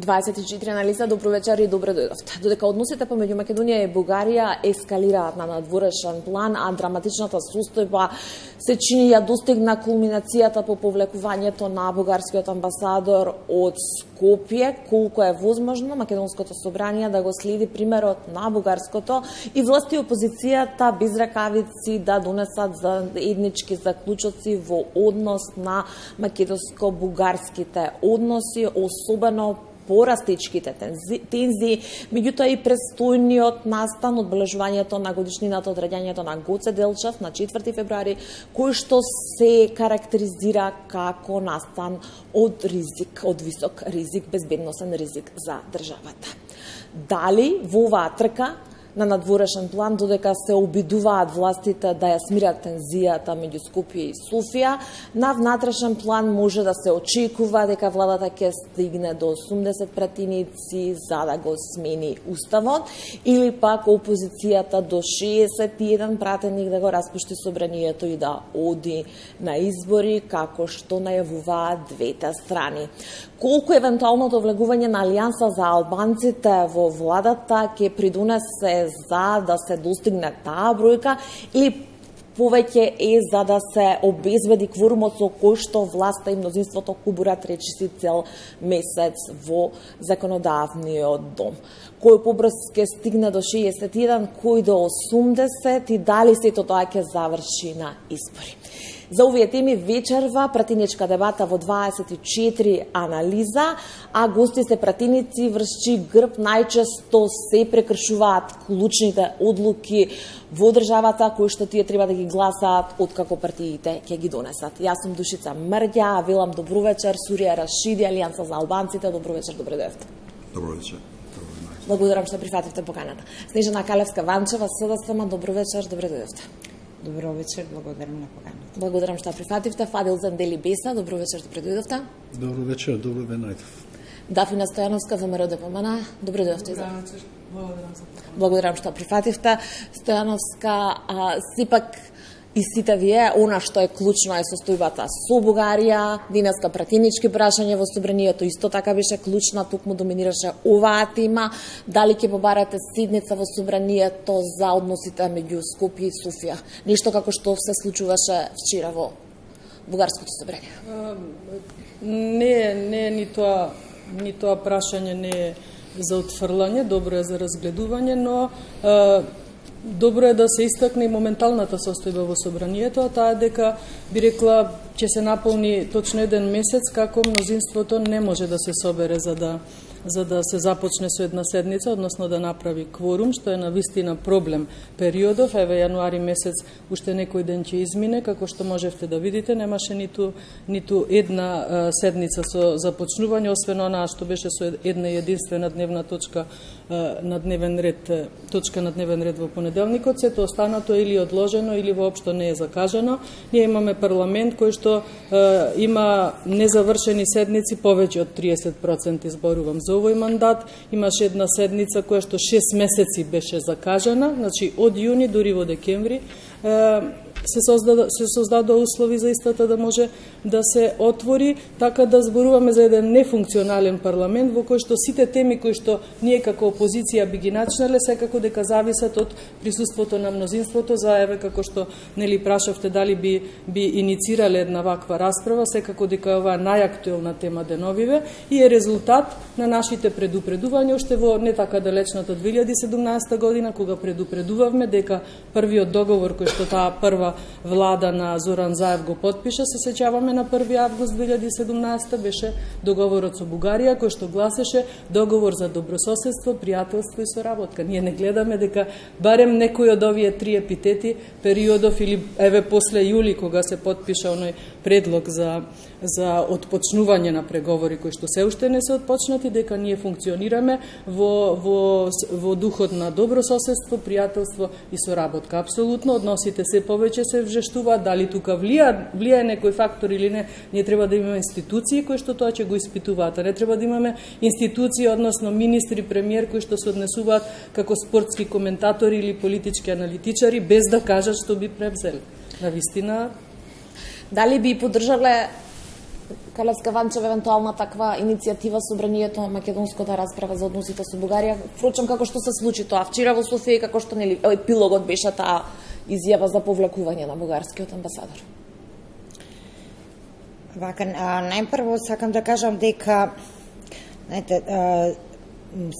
24 анализа, добро вечер и добро дојдовте. Додека односите помеѓу Македонија и Бугарија ескалираат на надворешен план, а драматичната состојба се чини ја достигна кулминацијата по повлекувањето на бугарскиот амбасадор од Скопје, колку е возможно Македонското собрание да го следи примерот на бугарското и власти опозицијата без ракавици да донесат заеднички заклучоци во однос на македонско-бугарските односи, особено порастичките тензии, меѓутоа и престојниот настан одбележувањето на годишнината од раѓањето на Гоце Делчев на 4 февруари, кој што се карактеризира како настан од ризик, од висок ризик, безбедносен ризик за државата. Дали во оваа трка на надворешен план, додека се обидуваат властите да ја смират тензијата меѓу Скопје и Софија, на внатрешен план може да се очекува дека владата ќе стигне до 80 пратеници за да го смени уставот, или пак опозицијата до 61 пратеник да го распушти собранието и да оди на избори, како што најавуваат двете страни. Колку евентуалното влегување на Алијанса за албанците во владата ќе придонесе за да се достигне таа бројка, или повеќе е за да се обезбеди кворумот со кој што власта и мнозинството кубурат речиси цел месец во законодавниот дом? Кој побрз ќе стигне до 61, кој до 80 и дали сето тоа ќе заврши на избори? За овие теми вечерва пратеничка дебата во 24 анализа, а гости се пратеници врз грб најчесто се прекршуваат клучните одлуки во државата кои што тие треба да ги гласаат откако партиите ќе ги донесат. Јас сум Душица Мрѓа, велам добро вечер, Сурија Рашиди, Алијанса за албанците, добро вечер, добро дојдовте. Добро вечер. Благодарам што прифативте поканата. Снежана Калевска-Ванчева, СДСМ, добро вечер, добро дојдовте. Добро вечер, благодарам на поканата. Благодарам што прифативте. Фадил Зандели Беса, добро вечер, добро дојдовте. Добро вечер, добро ве најдов. Дафина Стојановска, ВМРО ДПМН, добро дојдовте. Добро вечер, благодарам за поканата. Благодарам што прифативте. Стојановска, сепак и сите вие, она што е клучно е состојбата со Бугарија, денеска пратенички прашање во собранието исто така беше клучна, токму доминираше оваа тема. Дали ќе побарате седница во собранието за односите меѓу Скопје и Софија? Нешто како што се случуваше вчера во бугарското собрание. Не, ни тоа прашање не е за отфрлање, добро е за разгледување, но добро е да се истакне и моменталната состојба во собранието, а таа дека би рекла ќе се наполни точно еден месец како мнозинството не може да се собере за да се започне со една седница, односно да направи кворум, што е навистина проблем периодов. Еве јануари месец уште некој ден ќе измине, како што можевте да видите, немаше ниту една седница со започнување, освен онаа што беше со една единствена дневна точка на дневен ред, точка на дневен ред во понеделникот. Сето останато или одложено или воопшто не е закажано. Ние имаме парламент кој што има незавршени седници, повеќе од 30% зборувам за овој мандат. Имаше една седница која што 6 месеци беше закажана, значи од јуни дури во декември се создадоа услови за истата да може да се отвори, така да зборуваме за еден нефункционален парламент во кој што сите теми кои што ние како опозиција би ги начнале секако дека зависат од присуството на мнозинството. За еве како што нели прашавте дали би иницирале една ваква расправа, секако дека ова е најактуелна тема деновиве и е резултат на нашите предупредувања уште во не така далечната 2017 година, кога предупредувавме дека првиот договор кој што таа прва влада на Зоран Заев го потпиша, се сеќаваме на 1 август 2017 беше договорот со Бугарија, кој што гласеше договор за добрососедство, пријателство и соработка. Ние не гледаме дека барем некој од овие три епитети периодов или еве после јули кога се потпиша оној предлог за отпочнување на преговори кои што се уште не се отпочнати, дека ние функционираме во духот на добрососедство, пријателство и соработка. Апсолутно односите се повеќе се вжештуваат, дали тука влијае некој фактор или не. Ние треба да имаме институции кои што тоа ќе го испитуваат, а не треба да имаме институции, односно министри, премиер кои што се однесуваат како спортски коментатори или политички аналитичари без да кажат што би превзели. Навистина. Дали би поддржале Калевска Ванчев, евентуална таква иницијатива собранието македонско да расправа за односите со Бугарија. Впрочем, како што се случи тоа вчера во Софија, како што нели епилогот беше таа изјава за повлекување на бугарскиот амбасадор. Вака, најпрво сакам да кажам дека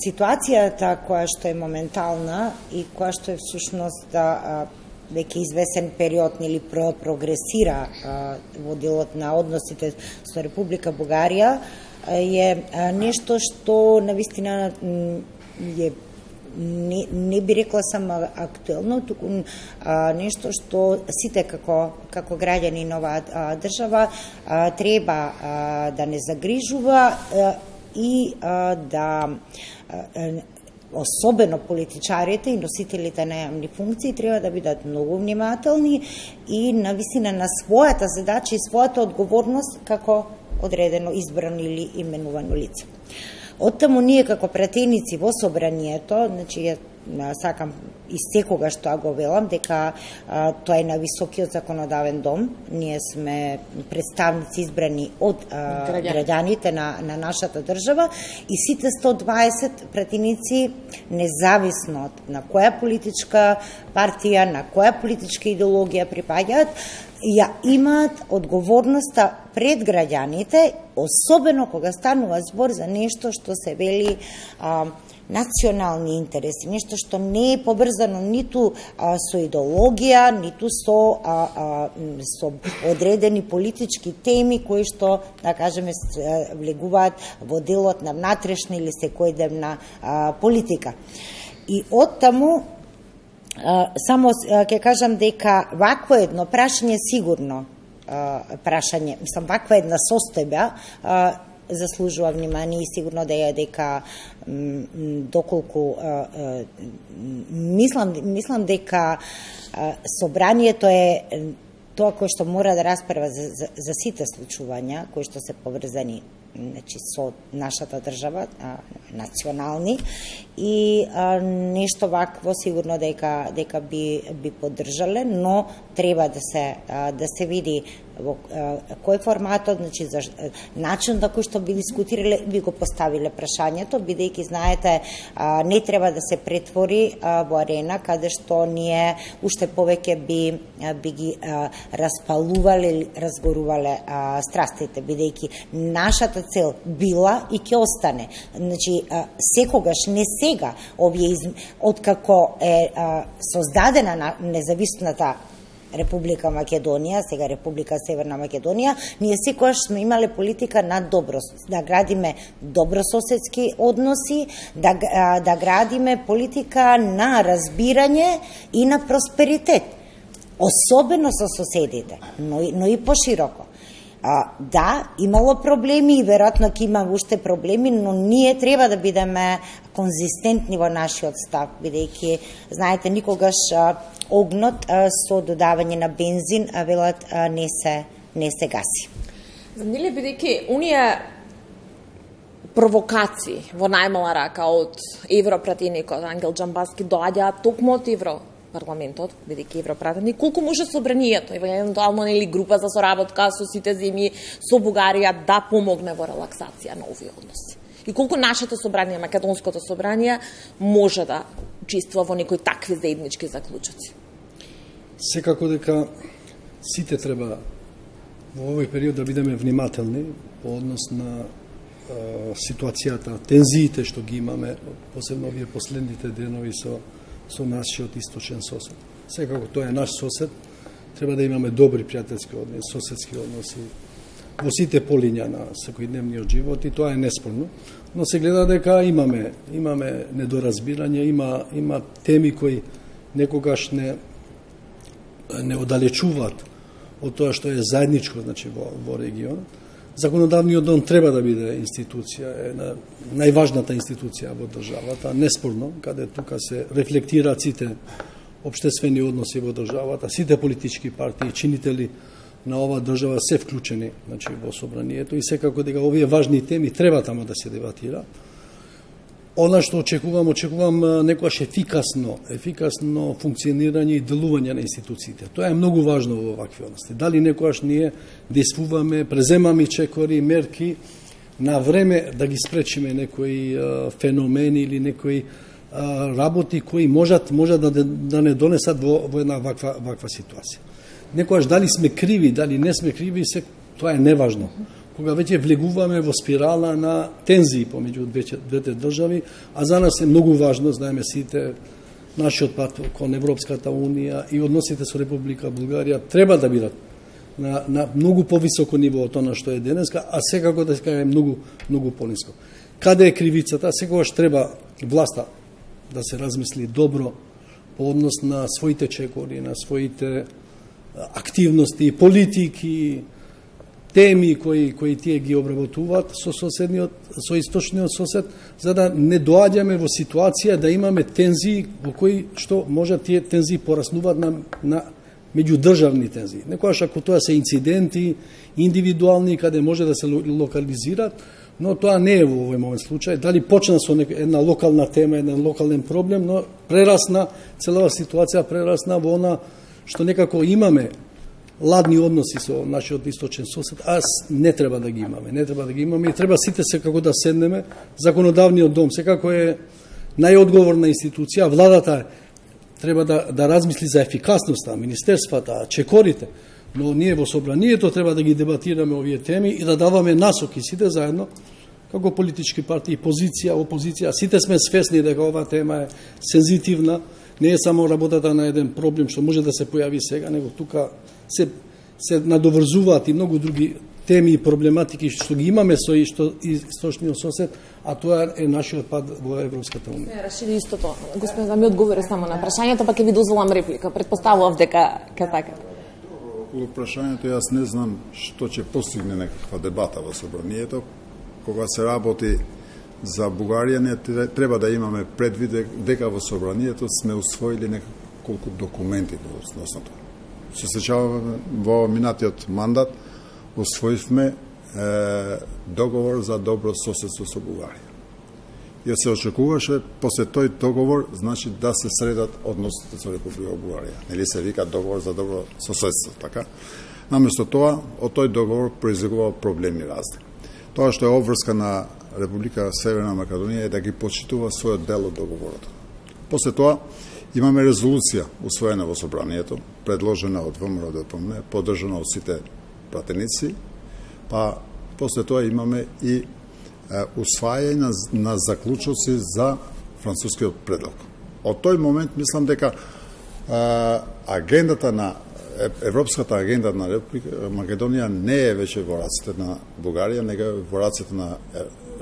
ситуацијата која што е моментална и која што е всушност веќе извесен период или прогресира во делот на односите со Република Бугарија е нешто што навистина е не би рекла само актуелно, туку нешто што сите како граѓани на оваа држава треба да не загрижува и да особено политичарите и носителите на јавни функции треба да бидат многу внимателни и навистина на својата задача и својата одговорност како одредено избрано или именувано лице. Оттаму ние како пратеници во собранието, значи сакам и секогаш тоа го велам дека тоа е на високиот законодавен дом. Ние сме представници избрани од граѓаните на нашата држава и сите 120 пратеници, независно на која политичка партија, на која политичка идеологија припаѓаат, ја имаат одговорноста пред граѓаните, особено кога станува збор за нешто што се вели национални интереси, нешто што не е поврзано ниту со идеологија, ниту со одредени политички теми кои што, да кажеме, влегуваат во делот на внатрешна или секојдневна политика. И оттаму само ќе кажам дека вакво едно прашање сигурно ваква една состојба заслужува внимание и сигурно дека доколку мислам дека собранието е тоа кој што мора да расправа за сите случувања кои што се поврзани со нашата држава, национални, и нешто вакво сигурно дека би поддржале, но треба да се види во кој форматот, значи за начин на кој што би дискутирале, би го поставиле прашањето, бидејќи знаете не треба да се претвори во арена каде што ние уште повеќе би ги распалувале или разгорувале страстите, бидејќи нашата цел била и ќе остане. Значи секогаш, не сега, откако е создадена независната Република Македонија, сега Република Северна Македонија, ние секогаш сме имале политика на да градиме добрососедски односи, да градиме политика на разбирање и на просперитет, особено со соседите, но и пошироко. Да, имало проблеми и веројатно ќе има уште проблеми, но ние треба да бидеме конзистентни во нашиот став, бидејќи, знаете, никогаш огнот со додавање на бензин, велат, не се гаси. Нели, бидејќи оние провокации во најмала рака од европратеникот Ангел Џамбаски доаѓаат токму од Европарламентот, бидејќи европратеник, колку може собранието, евентуално нели група за соработка со сите земји со Бугарија да помогне во релаксација на овие односи? И колку нашето собрание, македонското собрание, може да учествува во некои такви заеднички заклучоци? Секако дека сите треба во овој период да бидеме внимателни по однос на ситуацијата, тензиите што ги имаме, посебно овие последните денови со нашиот источен сосед. Секако тоа е наш сосед, треба да имаме добри пријателски односи, соседски односи во сите полиња на секојдневниот живот, и тоа е неспорно, но се гледа дека имаме недоразбирање, има теми кои некогаш не оддалечуваат од тоа што е заедничко, значи во регионот. Законодавниот дом треба да биде институција, најважната институција во државата, неспорно, каде тука се рефлектираат сите општествени односи во државата, сите политички партии, чинители на оваа држава се вклучени, значи, во собранието, и секако дека овие важни теми треба тамо да се дебатира. Она што очекувам некојаш ефикасно функционирање и делување на институциите. Тоа е многу важно во вакви односи. Дали некојаш ние действуваме, преземаме чекори, мерки на време да ги спречиме некои феномени или некои работи кои можат да не донесат во една ваква ситуација. Некојаш дали сме криви, дали не сме криви, тоа е неважно. Кога веќе влегуваме во спирала на тензии помеѓу двете држави, а за нас е многу важно, знаеме сите, нашиот пат кон Европската Унија и односите со Република Бугарија треба да бидат на многу повисоко ниво од тоа што е денеска, а секако да е многу пониско. Каде е кривицата? Секогаш треба власта да се размисли добро по однос на своите чекори, на своите активности, политики, теми кои тие ги обработуваат со источниот сосед, за да не доаѓаме во ситуација да имаме тензии во кои што може тие тензии пораснуваат на меѓудржавни тензии. Некојаш ако тоа се инциденти индивидуални каде може да се локализираат, но тоа не е во овој момент случај. Дали почна со една локална тема, еден локален проблем, но целава ситуација прерасна во она што некако имаме ладни односи со нашиот источен сосед, а не треба да ги имаме. И треба сите секако да седнеме. Законодавниот дом секако е најодговорна институција, владата треба да размисли за ефикасноста, министерствата, чекорите, но ние во собранието треба да ги дебатираме овие теми и да даваме насоки сите заедно, како политички партии, позиција, опозиција. Сите сме свесни дека оваа тема е сензитивна, не е само работата на еден проблем што може да се појави сега, него тука се надоврзуваат и многу други теми и проблематики што ги имаме со источниот сосед, а тоа е нашиот пат во Европската Унија. Рашиди истото. Господин, да ми одговори само на прашањето, па ќе ви дозволам реплика. Предпоставував дека така. Околу прашањето јас не знам што ќе постигне некаква дебата во собранието. Кога се работи за Бугарија, не треба да имаме предвид дека во собранието сме усвоили неколку документи во основното. Се сеќаваме во минатиот мандат усвоивме договор за добро соседство со Бугарија. И се очекуваше после тој договор, значи да се средат односите со Република Бугарија. Нели се вика договор за добро соседство, така? Наместо тоа, од тој договор произлегува проблеми разни. Тоа што е обврска на Република Северна Македонија е да ги почитува својот дел од договорот. После тоа имаме резолуција усвоена во собранието, предложена од ВМРО-ДПМН, поддржана од сите пратеници, па после тоа имаме и усвајање на заклучоци за францускиот предлог. Од тој момент мислам дека агендата на Европската агенда на Република Македонија не е веќе во раците на Бугарија, него е во раците на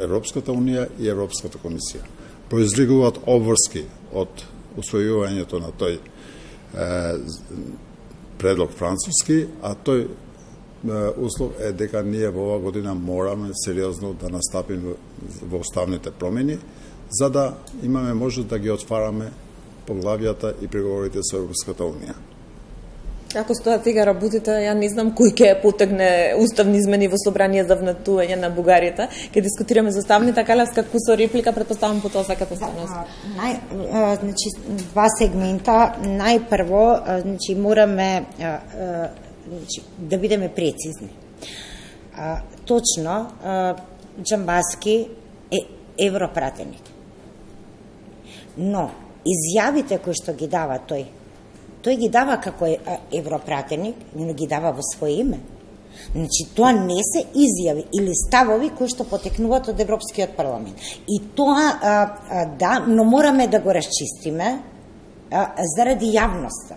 Европската Унија и Европската комисија. Произлегуваат обврски од усвојувањето на тој предлог француски, а тој услов е дека ние во оваа година мораме сериозно да настапиме во уставните промени, за да имаме можност да ги отвараме поглавјата и преговорите со Европската Унија. Како стојат сега работите, ја не знам кој ќе потегне уставни измени во собрание за внатување на Бугаријата. Ќе дискутираме за уставните, Калевска, кусо реплика, предпоставам по тоа сакате станост. Значи, два сегмента. Најпрво, значи, мораме да бидеме прецизни. Точно, Џамбаски е европратеник. Но, изјавите кои што ги дава тој ги дава како европратеник, но ги дава во своје име. Значи, тоа не се изјави или ставови кои што потекнуваат од Европскиот парламент. И тоа, да, но мораме да го расчистиме заради јавноста.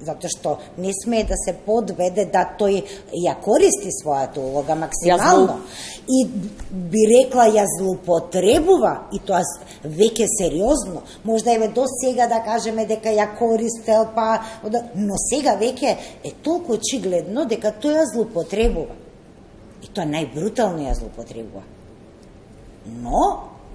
Затоа што не смее да се подведе да тој ја користи својата улога максимално и би рекла ја злоупотребува, и тоа веќе сериозно. Можда еве до сега да кажеме дека ја користел, но сега веќе е толку очигледно дека тој ја злоупотребува. И тоа најбрутално ја злоупотребува. Но,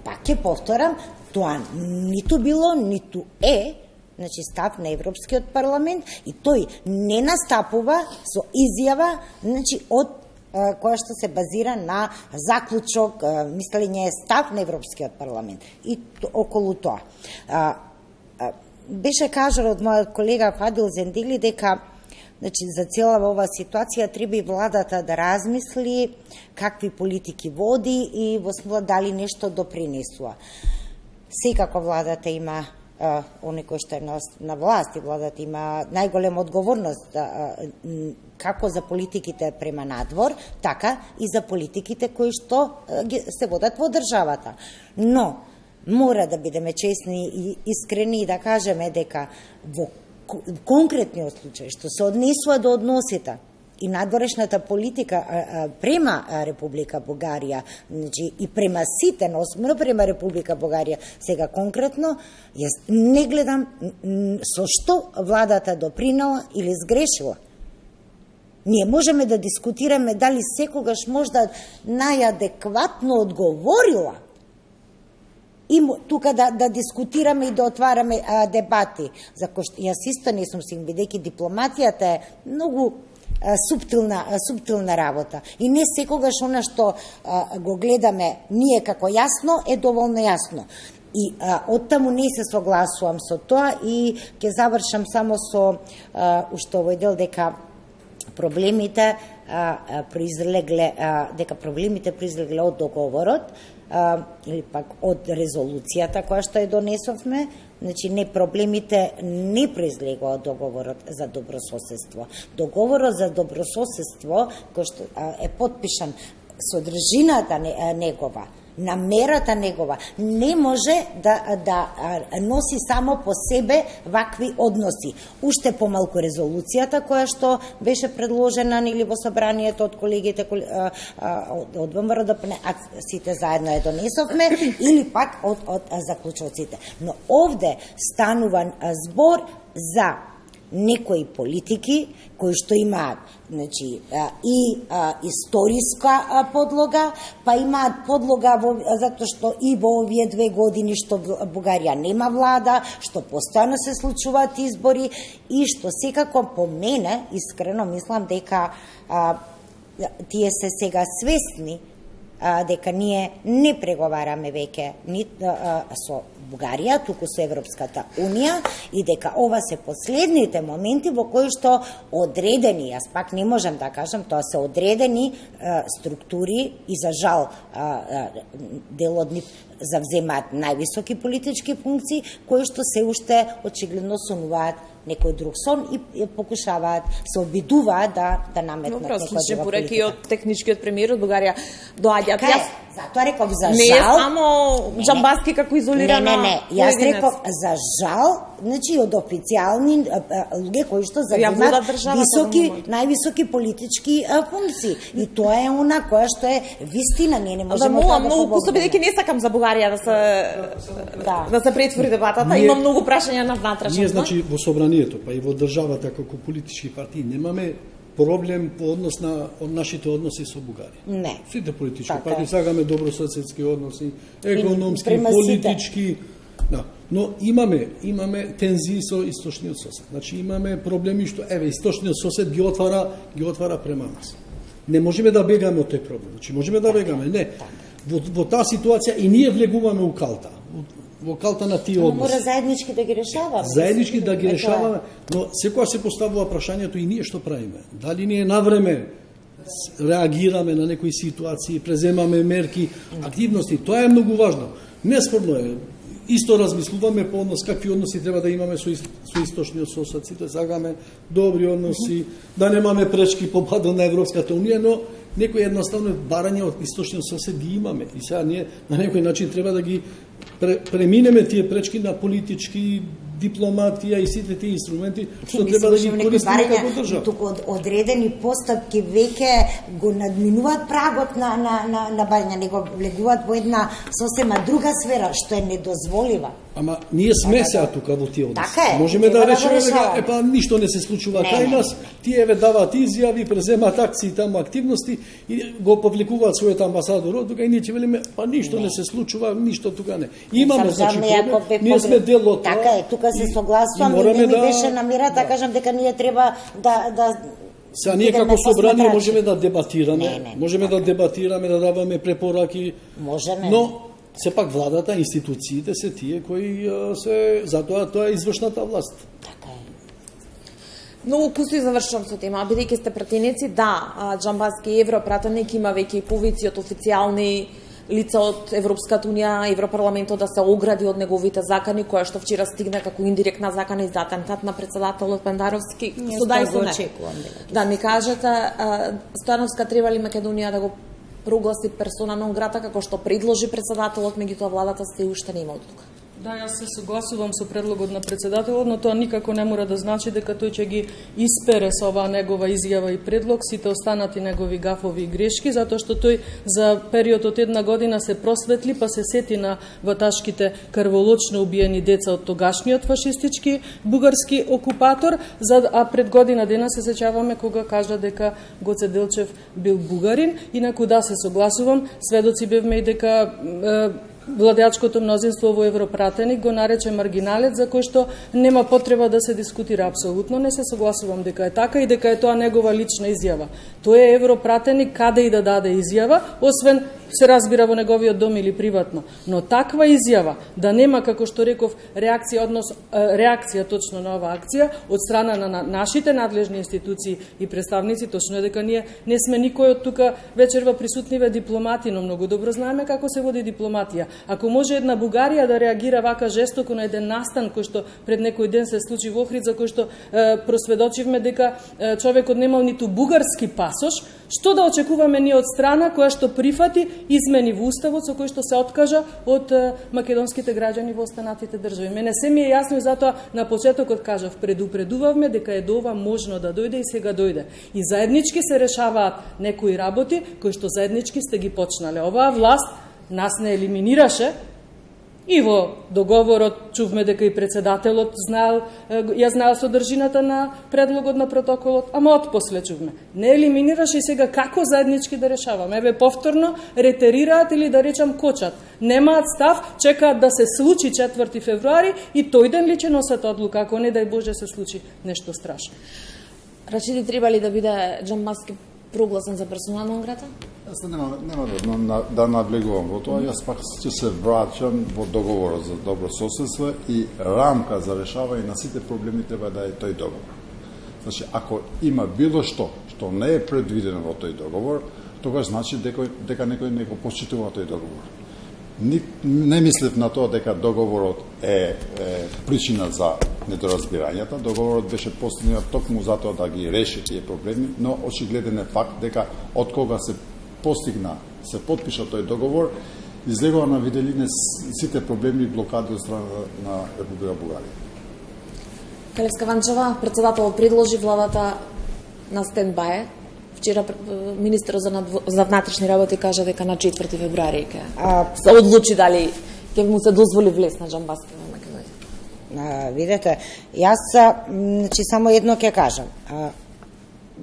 пак ќе повторам, тоа ниту било, ниту е, значи став на Европскиот парламент, и тој не настапува со изјава, значи од која што се базира на заклучок, мислење, став на Европскиот парламент и околу тоа. Беше кажано од мојот колега Фадил Зендили дека за цела ова ситуација треба и владата да размисли какви политики води и во смисла дали нешто допринесува. Секако владата има оне кој што е на власт и владата има најголема одговорност како за политиките према надвор, така и за политиките кои што се водат во државата. Но мора да бидеме честни и искрени и да кажеме дека во конкретниот случај што се однесува до односите и надворешната политика према Република Бугарија, и према сите, но осмено према Република Бугарија, сега конкретно, јас не гледам со што владата допринела или сгрешила. Ние можеме да дискутираме дали секогаш можда најадекватно одговорила и тука да дискутираме и да отвараме дебати, за кој што јас исто не сум сигурна, бидејќи дипломацијата е многу суптилна работа. И не секогаш она што го гледаме ние како јасно е доволно јасно. И оттаму не се согласувам со тоа и ќе завршам само со уште овој дел дека проблемите произлегле од договорот или пак од резолуцијата која што ја донесовме. Значи, не, проблемите не произлегува од договорот за добрососедство. Договорот за добрососедство, кој што е подпишан, содржината негова, намерата негова, не може да носи само по себе вакви односи. Уште помалку резолуцијата која што беше предложена или во собранието од колегите од ВМРО, сите заедно ја донесовме, или пак од заклучоците. Но овде станува збор за некои политики кои што имаат и историска подлога, па имаат подлога затоа што и во овие 2 години што Бугарија нема влада, што постојано се случуваат избори и што секако по мене, искрено мислам дека тие се сега свесни дека ние не преговараме веќе со Бугарија, туку со Европската Унија и дека ова се последните моменти во кои што одредени, јас пак не можам да кажам, тоа се одредени структури и за жал дел од нив завземаат највисоки политички функции, кои што се уште очигледно сонуваат некој друг сон и покушаваат, се обидуваат да наметнат некоја друга политика. Пораки од техничкиот премиер од Бугарија доаѓаат. Затоа реков за жал. Не е само Джамбаски како изолирана. Не. Јас реков за жал, значи од официјални луѓе кои што завземаат највисоки политички функции. И тоа е она која што е вистина, ние не можеме да многу пусто, бидејќи не сакам за Бугарија да се претвори дебатата, има многу прашања на внатрешност. Ние значи во собранието, па и во државата како политички партии немаме проблем по однос на нашите односи со Бугарија. Не. Сите политички партии сакаме добрососедски односи, економски, политички, да. Но имаме тензии со источниот сосед. Значи имаме проблеми што источниот сосед ги отвара према нас. Не можеме да бегаме од тој проблем. Значи можеме да бегаме, не. Во таа ситуација и ние влегуваме у калта. Во калта на тие односи. Мора заеднички да ги решаваме. Заеднички да ги решаваме, но секогаш се поставува прашањето и ние што правиме. Дали ние навреме реагираме на некои ситуации, преземаме мерки, активности, тоа е многу важно. Неспорно е. Исто размислуваме по однос какви односи треба да имаме со источниот сосед, сите сакаме добри односи, да немаме пречки по патот на Европската Унија, но некои едноставно барања од источниот сосед ги имаме. И сега ние на некој начин треба да ги преминеме тие пречки на политички дипломатија и сите тие инструменти што треба да ги користиме како држава. Туку одредени постапки веќе го надминуваат прагот на барање, него влегуваат во една сосема друга сфера што е недозволива. Ама ние сме сега тука во тие односи. Така е. Можеме да речеме дека ништо не се случува кај нас, тие даваат изјави, преземаат акции таму, активности и го повлекуваат својот амбасадор тука и ние ќе велиме ништо не се случува, ништо тука не. Имаме значи проблем, ние сме дел од тоа. Така е, тука се согласувам и не ми беше намера да кажам дека ние треба да Сега ние како собрание можеме да дебатираме, да дебатираме, да даваме препораки, но сепак владата, институциите се тие кои се затоа тоа е извршната власт. Така е. Многу куси завршувам со тема, бидејќи сте пратеници, да, Џамбаски европратеник има веќе и повици од официјални лица од Европската унија, Европарламентот да се огради од неговите закани, која што вчера стигна како индиректна закана и за атентат на председателот Пендаровски. Да ми кажете, Стојановска треба ли Македонија да го прогласи персона нон грата како што предложи председателот, меѓутоа владата се уште нема одлука? Да, јас се согласувам со предлогот на председателот, но тоа никако не мора да значи дека тој ќе ги испере со оваа негова изјава и предлог сите останати негови гафови и грешки, затоа што тој за период од една година се просветли, па се сети на ваташките крволочно убиени деца од тогашниот фашистички бугарски окупатор, а пред година дена се сеќаваме кога кажа дека Гоце Делчев бил бугарин. Инаку да, се согласувам, сведоци бевме и дека владеачкото мнозинство во Европратеник го нарече маргиналец, за кој што нема потреба да се дискутира. Апсолутно не се согласувам дека е така и дека е тоа негова лична изјава. Тој е Европратеник каде и да даде изјава, освен се разбира во неговиот дом или приватно. Но таква изјава да нема, како што реков, реакција точно на оваа акција од страна на нашите надлежни институции и представници, точно е дека ние не сме никој од тука вечерва присутниве дипломати, но многу добро знаеме како се води дипломатија. Ако може една Бугарија да реагира вака жестоко на еден настан кој што пред некој ден се случи во Охрид, за кој што просведочивме дека човекот немал ниту бугарски пасош, што да очекуваме ние од страна која што прифати измени во уставот со кој што се откажа од македонските граѓани во останатите држави? Мене се ми е јасно и затоа на почетокот кажав, предупредувавме дека е до ова можно да дојде и сега дојде. И заеднички се решаваат некои работи кои што заеднички сте ги почнале. Оваа власт нас не елиминираше и во договорот чувме дека и председателот ја знаел содржината на предлогот на протоколот, ама отпосле чувме. Не елиминираше и сега како заеднички да решаваме. Еве повторно ретерираат или да речам кочат. Немаат став, чекаат да се случи 4 февруари и тој ден ли ќе носат одлука, ако не дај Боже се случи нешто страшно. Рачиди, треба ли да биде Џамбаски прогласен за персона нон грата? Јас нема да надлегувам во тоа, јас пак ќе се враќам во договорот за добро соседство и рамка за решавање на сите проблеми треба да е тој договор. Значи, ако има било што не е предвидено во тој договор, тогаш значи дека некој не го почитува тој договор. Не мислев на тоа дека договорот е причина за недоразбирањата. Договорот беше постигнат токму затоа да ги реши тие проблеми, но очигледен е факт дека од кога се постигна, се подпиша тој договор, излегува на виделине сите проблеми и блокади од страна на Република Бугарија. Калевска Ванчева, председателот предложи владата на стендбај. Вчера министерот за внатрешни работи кажа дека на 4 февруари ќе се одлучи дали ќе му се дозволи влез на Џамбаски во Македонија. Видете, јас значи само едно ќе кажам.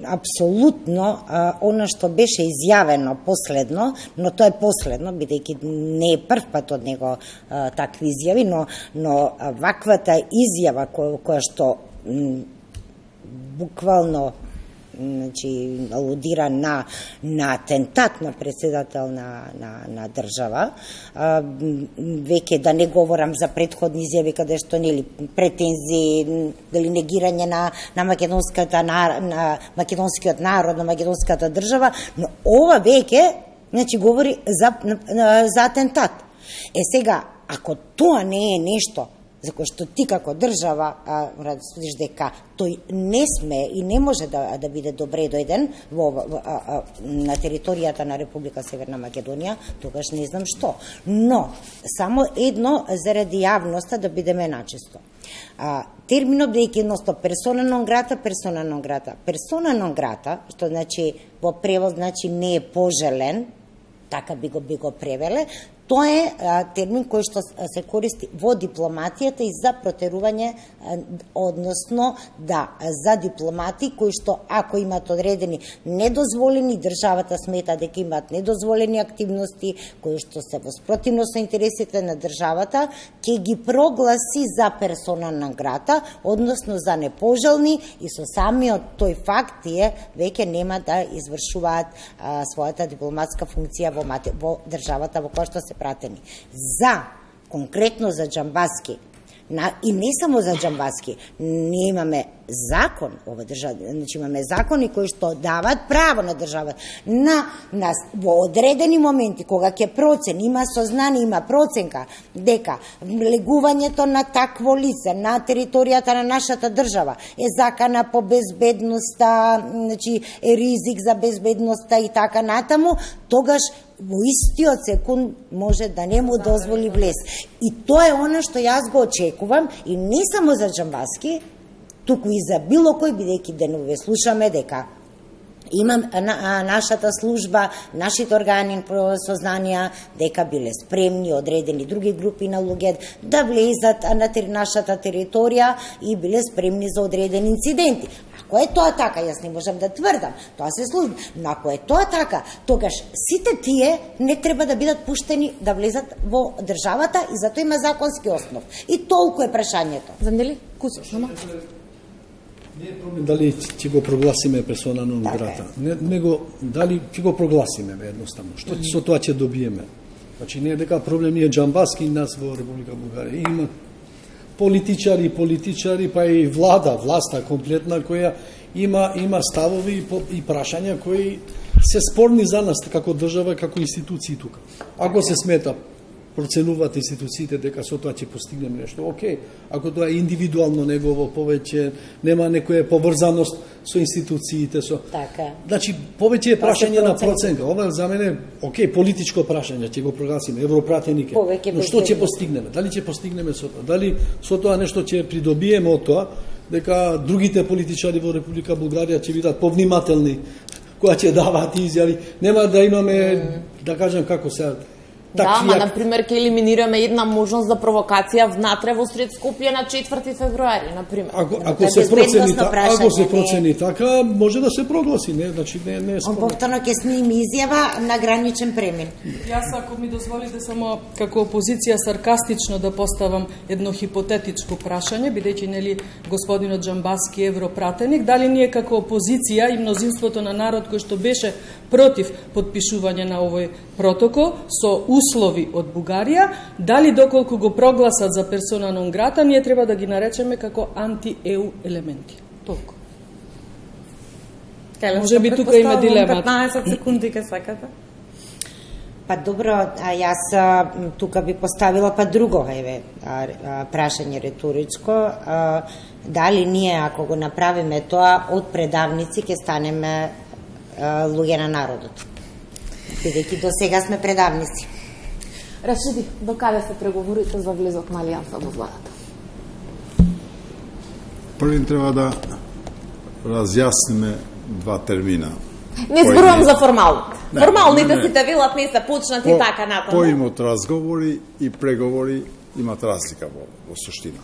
Апсолутно она што беше изјавено последно, но тоа е последно, бидејќи не е прв пат од него такви изјави, но ваквата изјава која што буквално значи алудира на атентат на председател на држава, веќе да не говорам за претходни изјави каде што нели претензии дали негирање на македонскиот народ, на македонската држава, но ова веќе значи говори за атентат. Сега, ако тоа не е нешто за кој што ти како држава мора да судиш дека тој не сме и не може да биде добре дојден на територијата на Република Северна Македонија, тогаш не знам што. Но, само едно заради јавноста да бидеме начисто. Терминот бидејќи едноста персона нон грата, персона нон грата. Персона нон грата, што значи во превод значи не е пожелен, така би го превеле, Тоа е термин кој што се користи во дипломатијата и за протерување, односно за дипломати кои што ако имат одредени недозволени, државата смета дека имаат недозволени активности кои што се во спротивност со интересите на државата, ќе ги прогласи за персона нон грата, односно за непожелни, и со самиот тој факт тие веќе нема да извршуваат својата дипломатска функција во државата во која што се пратени. Конкретно за Џамбаски, и не само за Џамбаски, ние имаме закон ова држава, значи имаме закони кои што даваат право на државата во одредени моменти кога ќе процени, има сознание, има проценка дека влегувањето на такво лице на територијата на нашата држава е закана по безбедноста, значи е ризик за безбедноста и така натаму, тогаш во истиот секунд може да не му дозволи влез. И тоа е она што јас го очекувам, и не само за Џамбаски, туку и за било кој, бидејќи денове слушаме дека имам нашата служба, нашите органи сознанија дека биле спремни одредени други групи на луѓе да влезат на нашата територија и биле спремни за одредени инциденти. Ако е тоа така, јас не можам да тврдам, тоа се случи, но ако е тоа така, тогаш сите тие не треба да бидат пуштени да влезат во државата и затоа има законски основ. И толку е прашањето. Занели? Куси, само? Не е проблем дали ќе го прогласиме персона нон грата, него дали ќе го прогласиме едноставно. Што со тоа ќе добиеме? Значи не е дека проблем ние Џамбаски и нас во Република Бугарија. Има политичари, па и власта комплетна која има ставови и прашања кои се спорни за нас како држава, како институции тука. Ако се смета, проценуваат институциите дека со тоа ќе постигнеме нешто, окей. Ако тоа е индивидуално негово повеќе, нема некоја поврзаност со институциите, Така. Значи, повеќе е прашање на проценка. Ова за мене, окей, политичко прашање, ќе го прогласиме, европратеник е. Но што ќе постигнеме? Дали ќе постигнеме со тоа? Дали со тоа нешто ќе придобиеме од тоа, дека другите политичари во Република Бугарија ќе бидат повнимателни кога ќе даваат изјави? Нема да имаме, да кажам како сега, Да, например, ќе елиминираме една можност за провокација внатре во сред Скопје на 4 февруари, например. Ако се процени така, може да се прогласи, не, значи не е спорно. Повторно ќе сними изјава на граничен премин. Јас, ако ми дозволите само како опозиција саркастично да поставам едно хипотетичко прашање, бидејќи нели господинот Џамбаски е европратеник, дали ние како опозиција и мнозинството на народ кој што беше против подпишување на овој протокол со услови од Бугарија, дали доколку го прогласат за персона нон грата, ние треба да ги наречеме како анти-ЕУ елементи. Толку. Може би тука има дилема. 15 секунди ке сакате. Па добро, јас тука би поставила друго прашање риторичко. Дали ние, ако го направиме тоа, од предавници ќе станеме луѓе на народот? Бидејќи до сега сме предавници. Рашиди, до каде се преговорите за влезот на Алијанса во владата? Први треба да разјасниме два термина. Не зборувам за формалните. Формалните сите велат не се почнати така натаму. Поимот разговори и преговори имат разлика во суштина.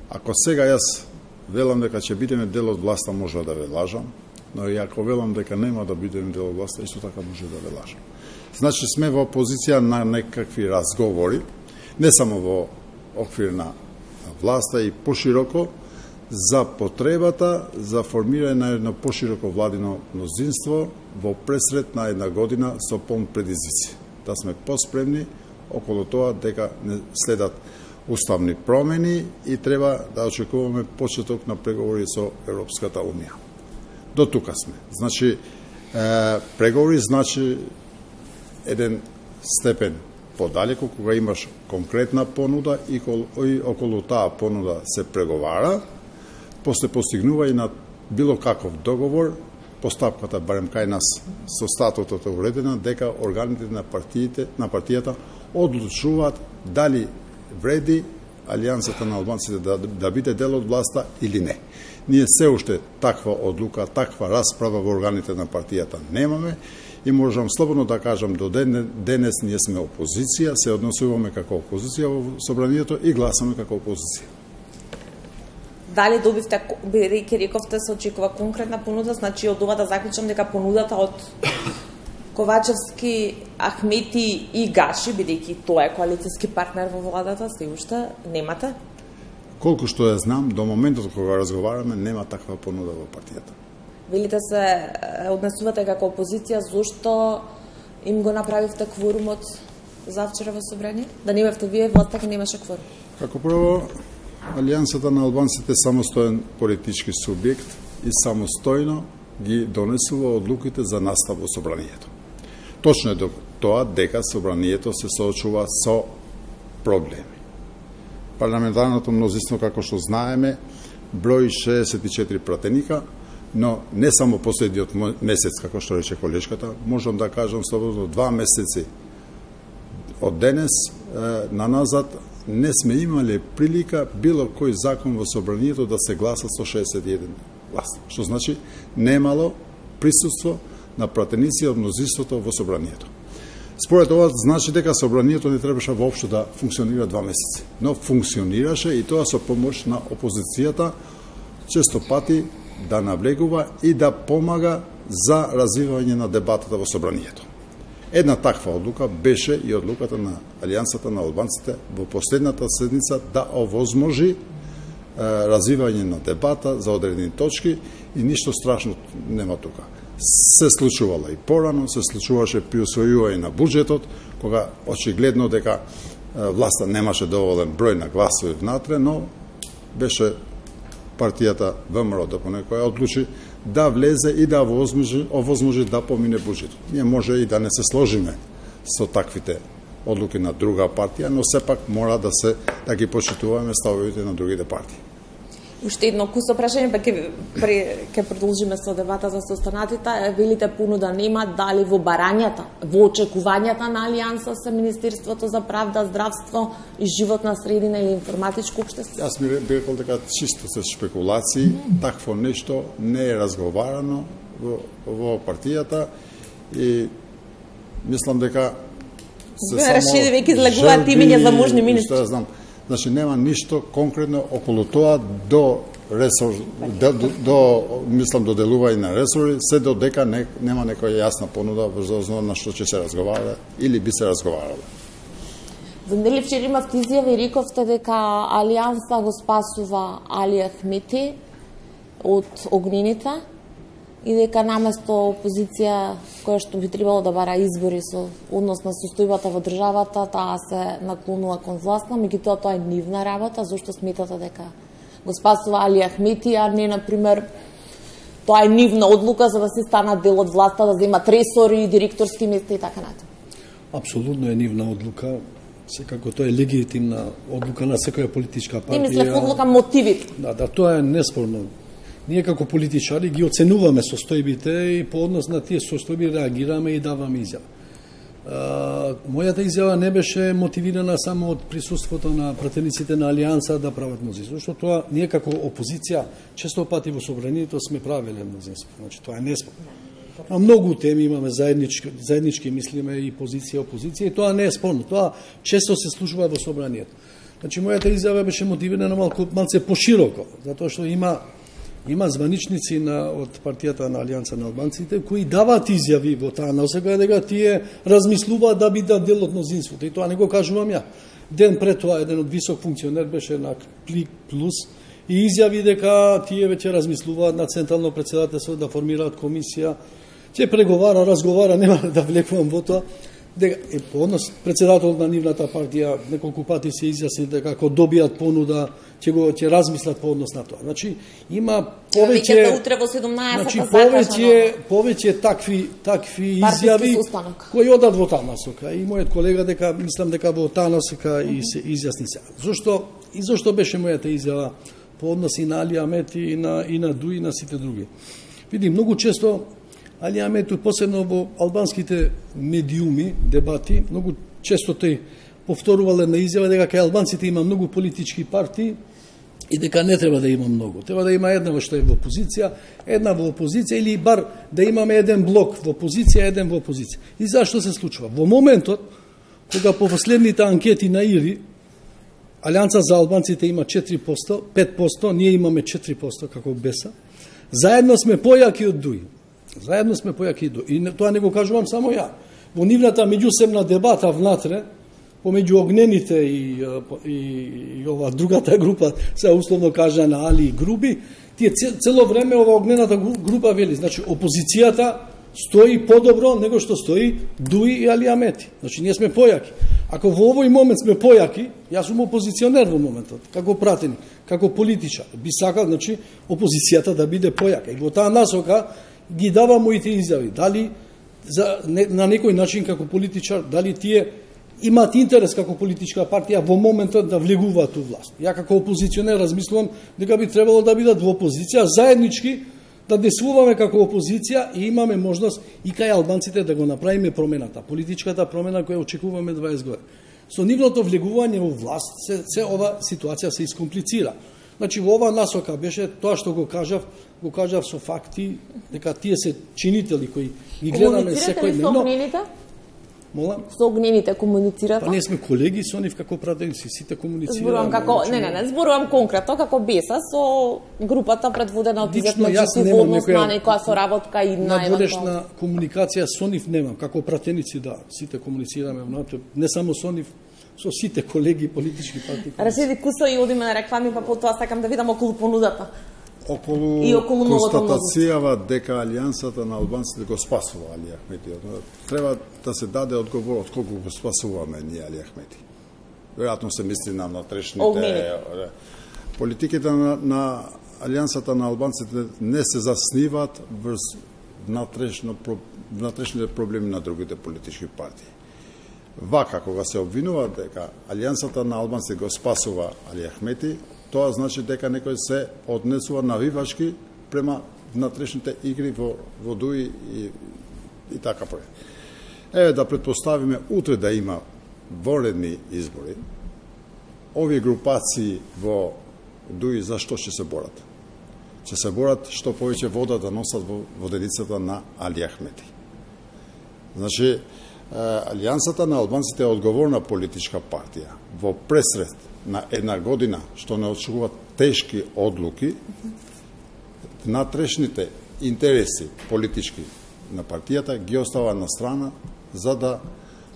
Ако сега јас велам дека ќе бидеме дел од власта, може да ве лажам, но и ако велам дека нема да бидеме дел од власта, исто така може да ве лажам. Значи сме во позиција на некакви разговори, не само во оквир на власта и пошироко, за потребата за формирање на едно пошироко владино мнозинство во пресред на една година со полн предизвици. Да сме поспремни околу тоа дека не следат уставни промени и треба да очекуваме почеток на преговори со Европската Унија. До тука сме. Значи, преговори значи еден степен подалеку, кога имаш конкретна понуда и околу таа понуда се преговара, после постигнува и на било каков договор, постапката, барем кај нас, со статутот е уредена, дека органите на партијата одлучуваат дали вреди Алијансата на албанците да биде дел од власта или не. Ние се уште таква одлука, таква расправа во органите на партијата немаме и можам слободно да кажам до денес ние сме опозиција, се однесуваме како опозиција во собранието и гласаме како опозиција. Дали добивте, бидејќи рековте се очекува конкретна понуда, значи од ова да заклучам дека понудата од Ковачевски, Ахмети и Гаши, бидејќи тоа е коалицијски партнер во владата, се уште немате? Колку што ја знам, до моментот кога разговараме, нема таква понуда во партијата. Велите се однесувате како опозиција, зошто им го направивте кворумот за вчера во собрание? Да не бевте вие, власта ке немаше кворум. Како прво, Алијансата на албанците е самостоен политички субјект и самостојно ги донесува одлуките за настав во собранието. Точно е тоа дека собранието се соочува со проблеми. Парламентарното мнозинство, како што знаеме, брои 64 пратеника, но не само последниот месец, како што рече колешката, можам да кажам слободно 2 месеци од денес на назад не сме имале прилика било кој закон во собранието да се гласа со 61 глас. Што значи немало присуство на пратеници од мнозинството во собранието. Според ова значи дека собранието не требаше воопшто да функционира 2 месеци, но функционираше и тоа со помош на опозицијата често пати да навлегува и да помага за развивање на дебатата во собранието. Една таква одлука беше и одлуката на Алијансата на албанците во последната седница да овозможи развивање на дебата за одредени точки и ништо страшно нема тука. Се случувало и порано, се случуваше при усвојување на буџетот, кога очигледно дека власта немаше доволен број на гласови внатре, но беше партијата ВМРО ДПНК одлучи да влезе и да овозможи да помине буџетот. Ние може и да не се сложиме со таквите одлуки на друга партија, но сепак мора да ги почитуваме ставовите на другите партии. Уште едно кусо прашање, па ќе продолжиме со дебата за состанатите. Велите понуда нема, дали во барањата, во очекувањата на Алијанса се Министерството за правда, здравство и животна средина или информатичко општество? Јас ми рекол дека чисто се шпекулации, такво нешто не е разговарано во партијата и мислам дека се само веќе излагуваат имиња за можни министри. Значи нема ништо конкретно околу тоа до ресор, мислам до делување на ресори, се додека нема некоја јасна понуда врз основа на што ќе се разговара или би се разговарало. За нели вчера имавте изјава и рековте дека Алијанса го спасува Али Ахмети од огнените и дека наместо опозиција која што би требало да бара избори со однос на состојбата во државата, таа се наклонува кон власта, меѓутоа тоа е нивна работа. Зошто сметате дека го спасува Али Ахмети, а не, например, тоа е нивна одлука за да се станат дел од власта, да земат ресори, директорски места и така натаму? Апсолутно е нивна одлука. Секако тоа е легитимна одлука на секоја политичка партија. Не мислев одлука, мотивите. Да, тоа е неспорно. Ние како политичари ги оценуваме состојбите и по однос на тие состојби реагираме и даваме изјава. Мојата изјава не беше мотивирана само од присуството на пратениците на Алијанса да прават мнозинство, што тоа ние како опозиција често пати во собранието сме правеле мнозинство. Значи тоа е неспорно. На многу теми имаме заеднички мислиме и позиција опозиција и тоа не е спорно. Тоа често се случува во собранието. Значи мојата изјава беше мотивирана малце пошироко, затоа што има званичници од партијата на Алијанса на албанците кои даваат изјави во таа насока дека тие размислуваат да бидат дел од мнозинството и тоа не го кажувам ја. Ден пред тоа еден од висок функционер беше на Клик Плюс и изјави дека тие веќе размислуваат на централно претседателство да формираат комисија, ќе преговара, разговара, нема да влекувам во тоа. Дека по однос претседателот на нивната партија неколку пати се изјасни дека ако добијат понуда ќе размислат по однос на тоа. Значи има повеќе утре во 17 значи повеќе такви изјави кои одат во таа насока. И мојот колега мислам дека во таа насока и се изјасни се. Зошто беше мојата изјава по однос и на Али Ахмети и на Дуи и на сите други. Види, многу често Али Ахмети, посебно во албанските медиуми, дебати, многу често тој повторувале на изјава дека кај албанците има многу политички партии и дека не треба да има многу. Треба да има една што е во опозиција, една во опозиција или бар да имаме еден блок во опозиција, еден во опозиција. И зашто се случува? Во моментот кога по последните анкети на ИРИ Алијанса за албанците има 4%, 5%, ние имаме 4% како БЕСА. Заедно сме појаки од ДУИ. Заедно сме појаки од ДУИ. И тоа не го кажувам само ја. Во нивната меѓусебна дебата внатре, помеѓу огнените и ова другата група, се условно кажана Али и Груби, тие цело време ова огнената група вели, значи опозицијата стои подобро него што стои ДУИ и Али Амети. Значи ние сме појаки. Ако во овој момент сме појаки, јас сум опозиционер во моментот, како пратеник, како политичар, би сакал, значи, опозицијата да биде појака. И во таа насока ги дава моите изјави. Дали на некој начин како политичар, дали тие имаат интерес како политичка партија во моментот да влегуваат у власт. Ја како опозиционер размислувам дека би требало да бидат во опозиција, заеднички да действуваме како опозиција и имаме можност и кај албанците да го направиме промената, политичката промена која очекуваме 20 години. Со нивното влегување во власт, се ова ситуација се искомплицира. Значи, во ова насока беше тоа што го кажав со факти, дека тие се чинители кои ги гледаме секој ден. Комуницирате ли со Молам? Со огнените комуницирате? Па ние сме колеги со нив како пратеници, сите комуницираме. Зборувам како, не, зборувам конкретно како БЕСА со групата предводена од Лично јас немам некоја соработка и на надворешна комуникација со нив немам, како пратеници да, сите комуницираме внатре, не само со нив, со сите колеги политички партии. Рашиди Кусо и одиме на реклами, па потоа сакам да видам околу понудата. Околу констатацијава дека Алијансата на албанците го спасува Али Ахмети. Треба да се даде одговор од колку го спасуваме ние Али Ахмети. Веројатно се мисли на внатрешните политиките на Алијансата на албанците не се засниваат врз внатрешните проблеми на другите политички партии. Вака, кога се обвинува дека Алијансата на албанците го спасува Али Ахмети, тоа значи дека некој се однесува навивачки према внатрешните игри во ДУИ и така пре. Еве да претпоставиме утре да има воредни избори, овие групации во ДУИ зашто ќе се борат? Ќе се борат што повеќе вода да носат во воденицата на Али Ахмети. Значи, Алијансата на албанците е одговорна политичка партија. Во пресред на една година, што не очекуваат тешки одлуки, внатрешните интереси политички на партијата ги остава на страна за да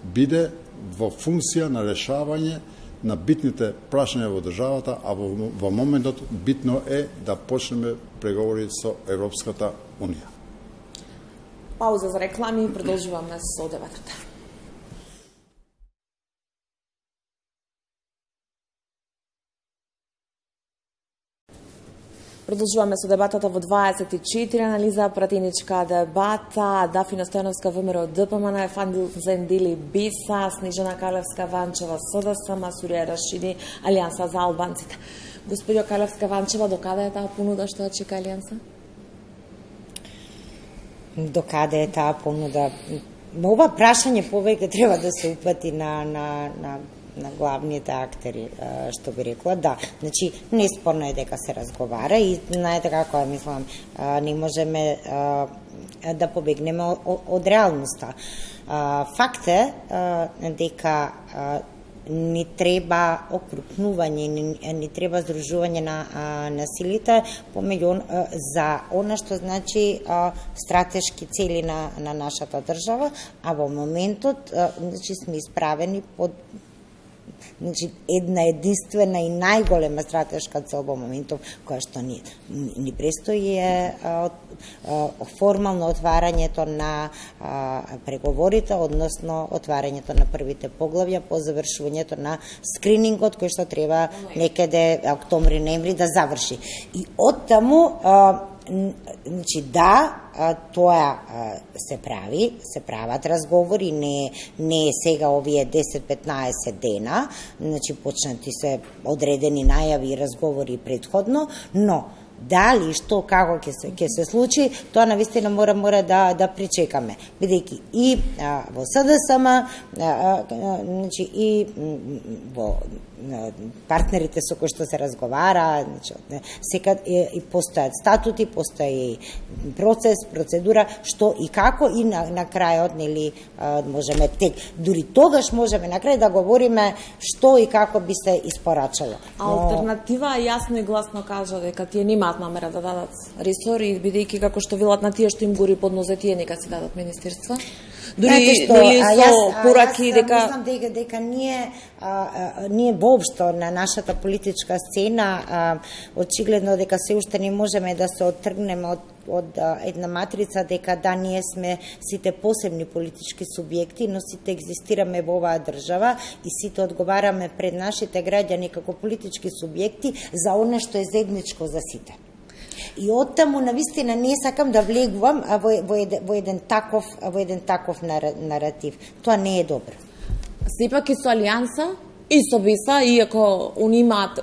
биде во функција на решавање на битните прашања во државата, а во моментот битно е да почнеме преговори со Европската Унија. Пауза за реклами и продолжуваме со дебатата. Продолжуваме со дебатата во 24, анализа пратеничка дебата, Дафина Стојановска ВМРО ДПМН, Фандил Зендили БЕСА, Снежана Калевска-Ванчева СДС, Масурија Рашиди Алијанса за албанците. Господио Калевска-Ванчева, докаде е таа понуда што чека Алијанса? Докаде е таа понуда? Ова прашање повеќе треба да се упати на главните актери, што би рекла, да. Значи, неспорно е дека се разговара и знаете како ја мислам, не можеме да побегнеме од реалноста. Факт е дека ни треба окрупнување, ни треба здружување на силите помеѓу за она што значи стратешки цели на нашата држава, а во моментот значи сме исправени под една единствена и најголема стратешка цел во моментов која што ни престои е формално отварањето на преговорите, односно отварањето на првите поглавја по завршувањето на скринингот кој што треба некаде октомври-ноември да заврши. И оттаму значи да, тоа се прават разговори, не е сега овие 10-15 дена, значи почнати се одредени најави и разговори предходно, но Дали што како ќе се случи, тоа навистина мора да причекаме. Бидејќи и во СДСМ, значи и во партнерите со кои што се разговара, значи секад и постојат статути, постои процес, процедура, што и како и на крајот, нели, можеме дури тогаш можеме на крај да говориме што и како би се испорачало. Алтернатива јасно и гласно кажа дека тие немаат намера да дадат ресори, бидејќи како што велат на тие што им гори под нозе, тие нека си дадат министерства. Дури со пораки дека мислам дека ние воопшто на нашата политичка сцена очигледно дека се уште не можеме да се оттргнеме од една матрица дека да ние сме сите посебни политички субјекти, но сите екзистираме во оваа држава и сите одговараме пред нашите граѓани како политички субјекти за она што е заедничко за сите. И оттаму навистина не сакам да влегувам во еден таков наратив. Тоа не е добро. Сепак и со Алијанса и со БЕСА, иако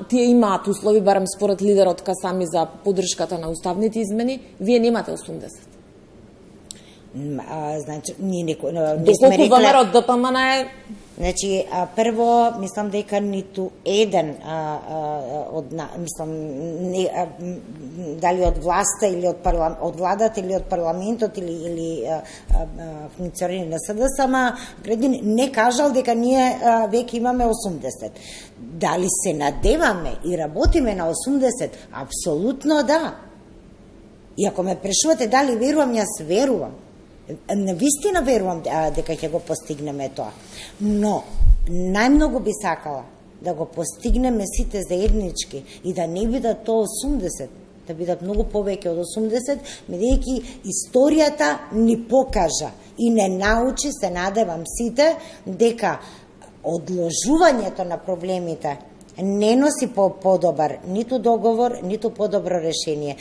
тие имаат услови, барем според лидерот Касами, за поддршката на уставните измени, вие немате 80. Значи, не сме рекле... ВМРО ДПМН е... Значи, прво, мислам дека ниту еден дали од власта или од владата или од парламентот или функционери на СДСМ, не кажал дека ние веќе имаме 80. Дали се надеваме и работиме на 80? Апсолутно да. И ако ме прашувате дали верувам, јас верувам. Навистина верувам дека ќе го постигнеме тоа. Но најмногу би сакала да го постигнеме сите заеднички и да не бидат тоа 80, да бидат многу повеќе од 80, бидејќи историјата ни покажа и не научи, се надевам сите, дека одложувањето на проблемите не носи подобар ниту договор, ниту подобро решение.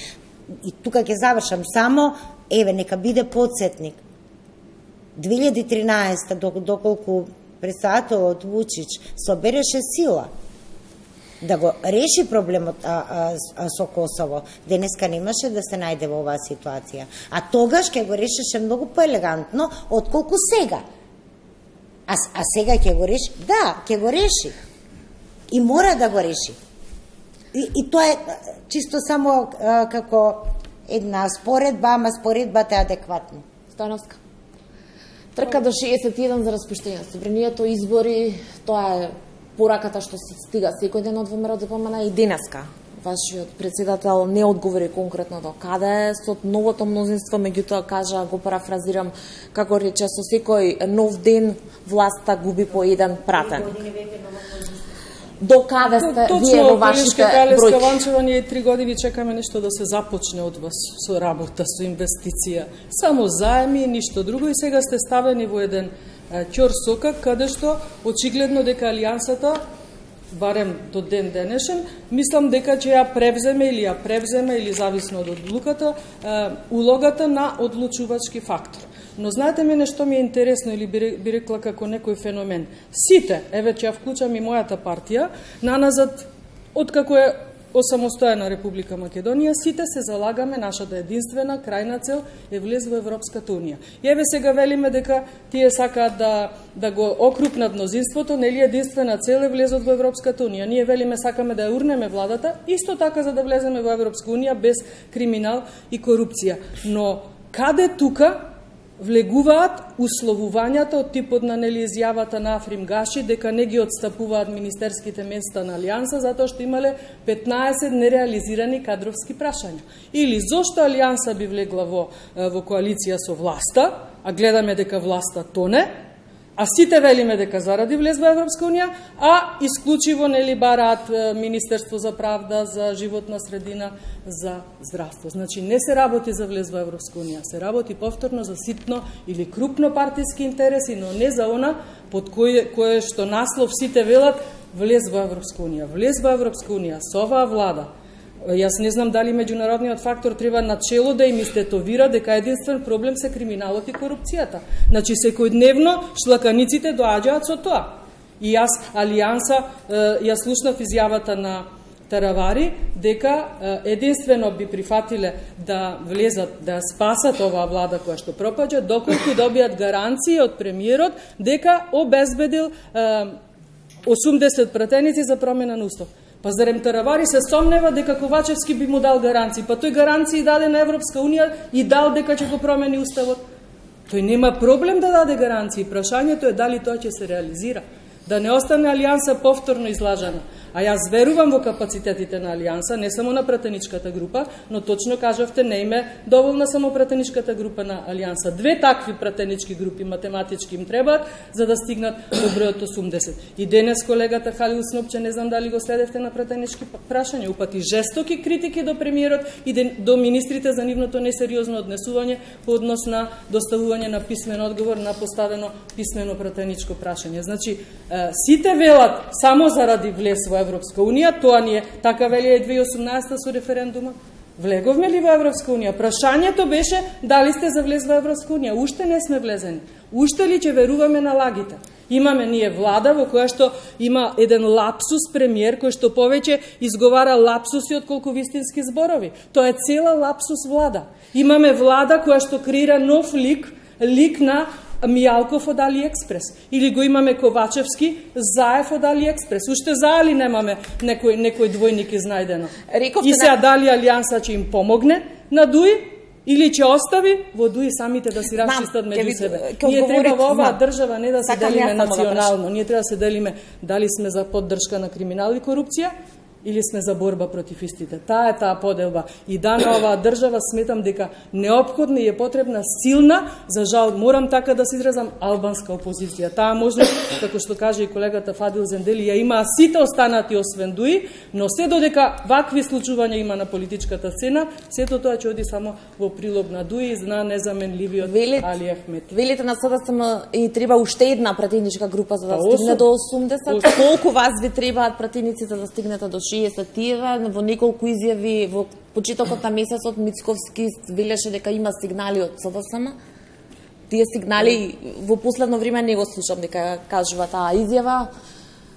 И тука ќе завршам само, нека биде подсетник. 2013, доколку председателот Вучич собереше сила да го реши проблемот со Косово, денеска немаше да се најде во оваа ситуација. А тогаш ќе го решеше многу поелегантно отколку сега. А сега ќе го реши? Да, ќе го реши. И мора да го реши. И тоа е чисто само како една споредба, ама споредбата е адекватна. Становска. Трка до 61 за распуштање на собранието, избори, тоа е пораката што се стига секој ден од ВМРО ДПМН и денеска. Вашиот председател не одговори конкретно до каде со новото мнозинство, меѓутоа кажа, го парафразирам, како рече, со секој нов ден власта губи по еден пратеник. До каде сте вие во вашите бројки? Точно, Ванчева, ние 3 години чекаме нешто да се започне од вас со работа, со инвестиција. Само заеми и ништо друго, и сега сте ставени во еден ќор сокак, каде што очигледно дека Алијансата, барем до ден денешен, мислам дека ќе ја превземе или зависно од одлуката, улогата на одлучувачки фактор. Но знаете мене што ми е интересно, или би рекла како некој феномен. Сите, еве ќе ја вклучам и мојата партија, наназад, откако е осамостојана Република Македонија, сите се залагаме, нашата единствена крајна цел е влез во Европската унија. И еве сега велиме дека тие сакаат да го окрупнат мнозинството, нели единствена цел е влезот во Европската унија. Ние велиме сакаме да ја урнеме владата, исто така за да влеземе во Европска унија без криминал и корупција. Но каде тука влегуваат условувањата од типот на изјавата на Африм Гаши дека не ги отстапуваат министерските места на Алијанса затоа што имале 15 нереализирани кадровски прашања. Или зошто Алијанса би влегла во коалиција со власта, а гледаме дека власта тоне, а сите велиме дека заради влез во Европска унија, а исклучиво бараат Министерство за правда, за животна средина, за здравство. Значи не се работи за влез во Европска унија, се работи повторно за ситно или крупно партиски интереси, но не за она под кое што наслов сите велат влез во Европска унија. Влез во Европска унија со оваа влада. Јас не знам дали меѓународниот фактор треба начело да им истетовира дека единствен проблем се криминалот и корупцијата. Значи секојдневно шлаканиците доаѓаат со тоа. И јас Алијанса ја слушнав изјавата на таравари дека единствено би прифатиле да влезат, да спасат оваа влада која што пропаѓа, доколку добијат гаранции од премиерот дека обезбедил 80 пратеници за промена на устав. Па зарем таравари се сомнева дека Ковачевски би му дал гаранции, па тој гаранции даде на Европска Унија и дал дека ќе го промени уставот. Тој нема проблем да даде гаранции, прашањето е дали тоа ќе се реализира. Да не остане Алијанса повторно излажана. А јас верувам во капацитетите на Алијанса, не само на пратеничката група, но точно кажавте, не име доволна само пратеничката група на Алијанса. Две такви пратенички групи математички им требаат за да стигнат до бројот 80. И денес колегата Халил Снопче, не знам дали го следевте на пратенички прашања, упати жестоки критики до премиерот и до министрите за нивното несериозно однесување по однос на доставување на писмен одговор на поставено писмено пратеничко прашање. Значи, сите велат само заради влез во Европска Унија, тоа ни е, така вели 2018 со референдума. Влеговме ли во Европска Унија? Прашањето беше дали сте за влез во Европска Унија. Уште не сме влезени. Уште ли ќе веруваме на лагите? Имаме ние влада во која што има еден лапсус премиер кој што повеќе изговара лапсуси отколку вистински зборови. Тоа е цела лапсус влада. Имаме влада која што креира нов лик на Мијалков од Алиекспрес. Или го имаме Ковачевски, Заев од Алиекспрес. Уште за Али немаме некој двојник изнајдено. И сега дали Алијанса ќе им помогне на ДУИ, или ќе остави во ДУИ самите да си расчистат меѓу себе. Ние треба во оваа држава не да се делиме национално, ние треба да се делиме дали сме за поддршка на криминал и корупција, или сме за борба против истите. Таа е таа поделба. И да на оваа држава сметам дека неопходна и е потребна силна, за жал морам така да се изразам, албанска опозиција. Таа можност, како што каже и колегата Фадил Зендели, ја имаа сите останати освен ДУИ, но се додека вакви случувања има на политичката сцена, сето тоа ќе оди само во прилог на ДУИ и на незаменливиот Али Ахмети. Велите на СДСМ и треба уште една пратеничка група за да стигне до 80. Колку вас ви требаат пратеници за да стигнете до 60? Во неколку изјави во почетокот на месецот Мицковски велеше дека има сигнали од СДСМ. Тие сигнали во последно време не го слушам дека кажува таа изјава.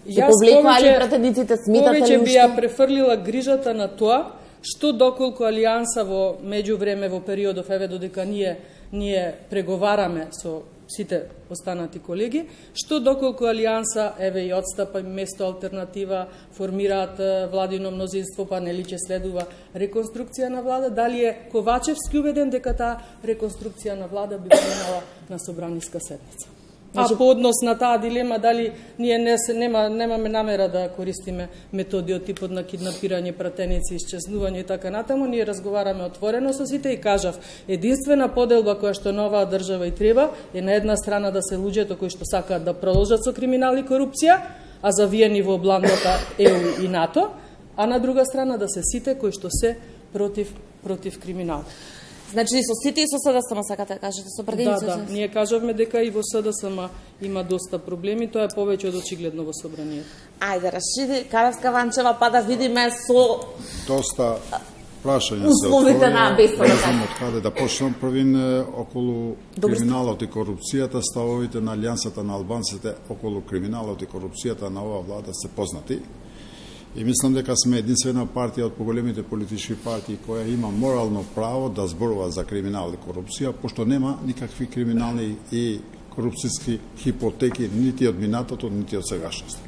Ја повлекували пратениците, сметате ли уште? Повеќе би ја префрлила грижата на тоа што доколку Алијанса во меѓувреме во периодов, еве додека ние преговараме со сите останати колеги, што доколку Алијанса, еве и отстапа место алтернатива, формираат владино мнозинство, па нели ќе следува реконструкција на влада, дали е Ковачевски убеден дека таа реконструкција на влада би минала на собраниска седница? А по однос на таа дилема, дали ние немаме намера да користиме методи од типот на киднапирање, пратеници, исчезнување и така натаму, ние разговараме отворено со сите и кажав, единствена поделба која што на оваа држава и треба е на една страна да се луѓето кои што сакаат да продолжат со криминал и корупција, а завиени во обландата ЕУ и НАТО, а на друга страна да се сите кои што се против криминал. Значи и со сите и со СДСМ сакате да кажете, со пратениците? Да, ние кажавме дека и во СДСМ има доста проблеми, тоа е повеќе од очигледно во собранието. Ајде, Рашиди Каравска Ванчева, па да видиме со доста прашања се условите на беспоред. Не знам од каде да почнам. Првин околу криминалот и корупцијата, ставовите на Алијансата на албанците околу криминалот и корупцијата на оваа влада се познати. И мислам дека сме единствена партија од поголемите политички партии која има морално право да зборува за криминал и корупција, пошто нема никакви криминални и корупцијски хипотеки нити од минатото, нити од сегашноста.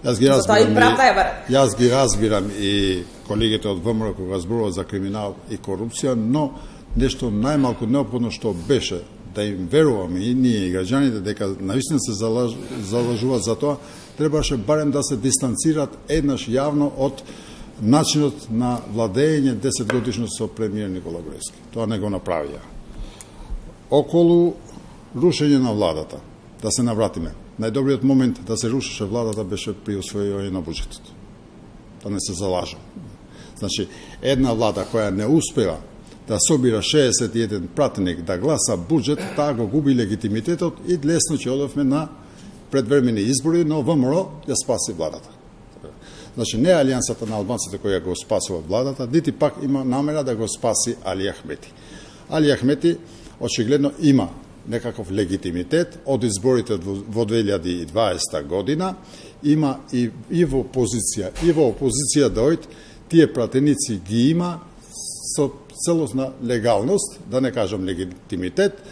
Јас ги разбирам и колегите од ВМРО кога зборуваат за криминал и корупција, но нешто најмалку неопходно што беше да им веруваме и ние и граѓаните дека навистина се залажуваат за тоа, требаше барем да се дистанцираат еднаш јавно од начинот на владење 10 годишно со премиер Никола Груевски. Тоа не го направија. Околу рушење на владата, да се навратиме. Најдобриот момент да се рушеше владата беше при усвојување на буџетот. Да не се залажам. Значи, една влада која не успева да собира 61 пратеник да гласа буџет, таа го губи легитимитетот и лесно ќе одевме на предвремени избори, но ВМРО ја спаси владата. Значи, не Алијансата на албанците која го спасува владата, нити пак има намера да го спаси Али Ахмети. Али Ахмети очигледно има некаков легитимитет од изборите во 2020 година, има и во опозиција дојд, тие пратеници ги има со целосна легалност, да не кажам легитимитет,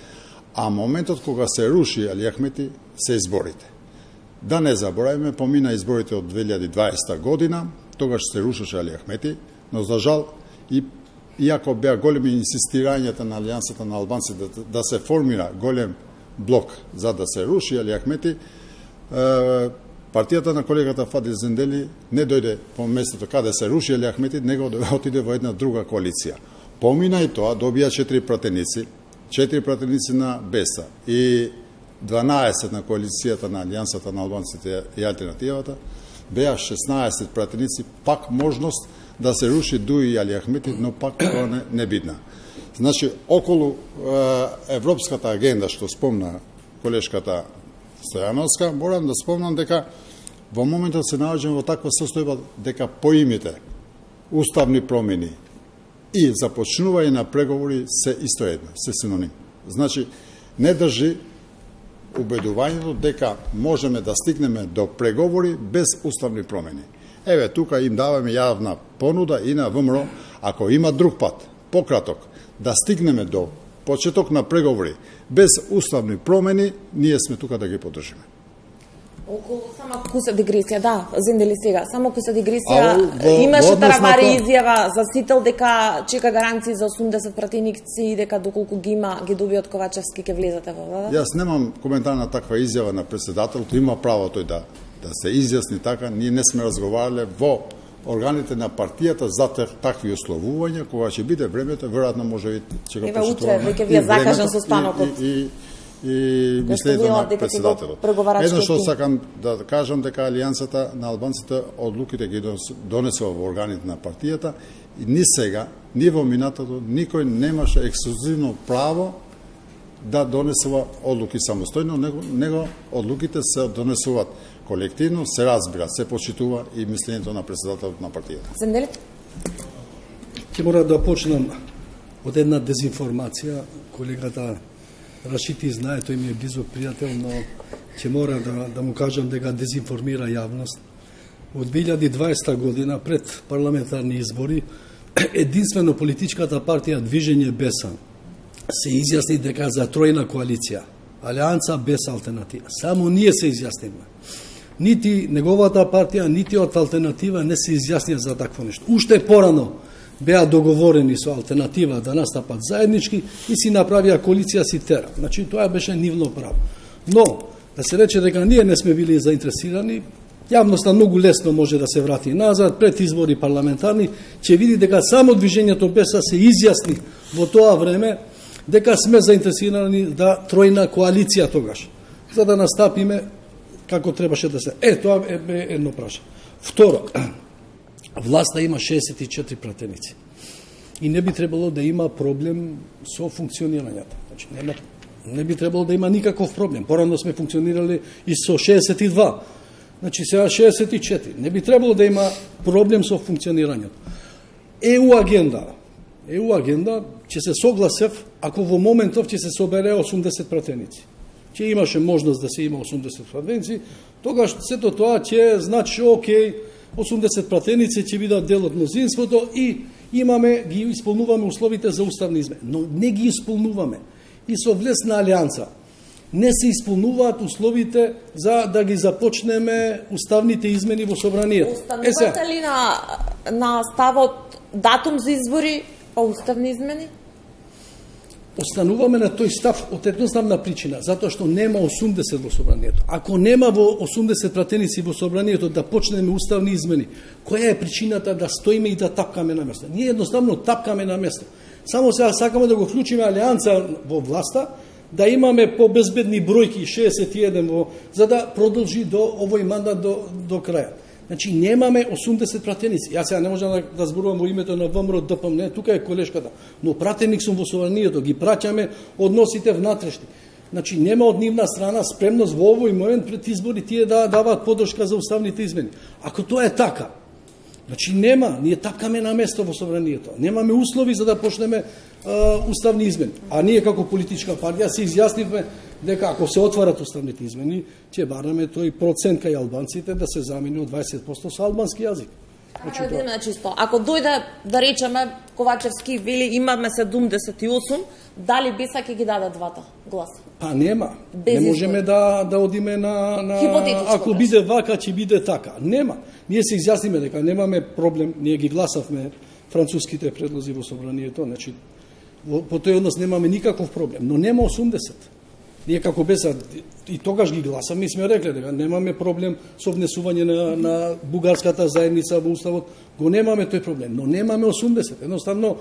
а моментот кога се руши Али Ахмети се изборите. Да не забораваме, помина изборите од 2020 година, тогаш се рушеше Али Ахмети, но за жал, иако беа големи инсистирањата на Алијансата на албанци да се формира голем блок за да се руши Али Ахмети, партијата на колегата Фадил Зендели не дојде по местото каде се руши Али Ахмети, него отиде во една друга коалиција. Помина и тоа, добија 4 пратеници на БЕСА и 12 на коалицијата на Алијансата на албанците и алтернативата, беа 16 пратеници, пак можност да се руши Дуи Али Ахмети, но пак тоа не бидна. Значи, околу европската агенда, што спомна колешката Стојановска, морам да спомнам дека во моментот се наоѓаме во таква состојба дека поимите уставни промени и започнување на преговори се истоедно, се синоним. Значи, не држи убедувањето дека можеме да стигнеме до преговори без уставни промени. Еве, тука им даваме јавна понуда и на ВМРО, ако има друг пат, пократок, да стигнеме до почеток на преговори без уставни промени, ние сме тука да ги поддржиме. Околу само куса дигресија, да, Зендели сега, само куса дигресија, имаше таравари изјава за Сител дека чека гаранции за 80 пратеници и дека доколку ги има, ги доби од Ковачевски ќе влезете во влада? Јас немам коментар на таква изјава на председателот, има право тој да се изјасни така, ние не сме разговарале во органите на партијата за такви условувања, кога ќе биде времето, веројатно може би ќе го Еве почитуваме. утре веќе ви закажан состанокот. И мислењето на председателот. Едно што сакам да кажам дека Алијансата на албанците одлуките ги донесува во органите на партијата и ни сега, ни во минатото, никој немаше ексклузивно право да донесува одлуки самостојно, него одлуките се донесуваат колективно, се разбира, се почитува и мислењето на председателот на партијата. Зендели? Ќе мора да почнам од една дезинформација. Колегата Рашити знае, тој ми е близок пријател, но ќе мора да му кажам дека дезинформира јавност. Од 2020 година, пред парламентарни избори, единствено политичката партија Движење БЕСА се изјасни дека за тројна коалиција, Алијанса без алтернатива. Само ние се изјаснивме. Нити неговата партија, нити од алтернатива не се изјаснија за такво нешто. Уште порано беа договорени со алтернатива да настапат заеднички и си направија коалиција Ситера. Значи, тоа беше нивно право. Но, да се рече дека ние не сме били заинтересирани, јавноста многу лесно може да се врати назад, пред избори парламентарни, ќе види дека само Движењето БЕСА се изјасни во тоа време дека сме заинтересирани да тројна коалиција тогаш, за да настапиме како требаше да се. Тоа е едно прашање. Второ, власта има 64 пратеници и не би требало да има проблем со функционирањето. Значи, не би требало да има никаков проблем. Порано сме функционирали и со 62. Значи, сега 64. Не би требало да има проблем со функционирањето. ЕУ агенда ќе се согласев ако во моментов ќе се собере 80 пратеници. Ќе имаше можност да се има 80 пратеници, тогаш сето тоа ќе значи окей, 80 пратеници ќе бидат дел од мнозинството и ги исполнуваме условите за уставни измени. Но не ги исполнуваме. И со влез на Алијанса не се исполнуваат условите за да ги започнеме уставните измени во собранието. Останувате ли на ставот датум за избори па уставни измени? Остануваме на тој став од едноставна причина, затоа што нема 80 во собранието. Ако нема во 80 пратеници во собранието да почнеме уставни измени, која е причината да стоиме и да тапкаме на место? Ние едноставно тапкаме на место. Само сега сакаме да го вклучиме Алијанса во власта, да имаме побезбедни бројки 61 за да продолжи до овој мандат до крај. Значи немаме 80 пратеници. Јас сега не можам да зборувам во името на ВМРО ДПМН, не, тука е колешката, но пратеник сум во собранието, ги праќаме односите внатрешни. Значи нема од нивна страна спремност во овој момент пред избори тие да даваат поддршка за уставните измени. Ако тоа е така, Значи нема, ние тапкаме на место во собранието. Немаме услови за да почнеме уставни измени. А ние како политичка партија се изјаснивме дека ако се отварат уставните измени, ќе бараме тој процент кај албанците да се замени од 20% со албански јазик. Значи, ако дојде, да речеме, Ковачевски вели имаме 78, дали Беса ќе ги даде двата гласа? Па нема. Не можеме да одиме на ако биде вака, ќе биде така. Нема. Ние се изјасниме дека немаме проблем, ние ги гласавме француските предлози во собранието, значи по тој однос немаме никаков проблем, но нема 80. Ние како Беса и тогаш ги гласаме и сме рекле дека немаме проблем со внесување на бугарската заедница во уставот, го немаме тој проблем, но немаме 80. Едноставно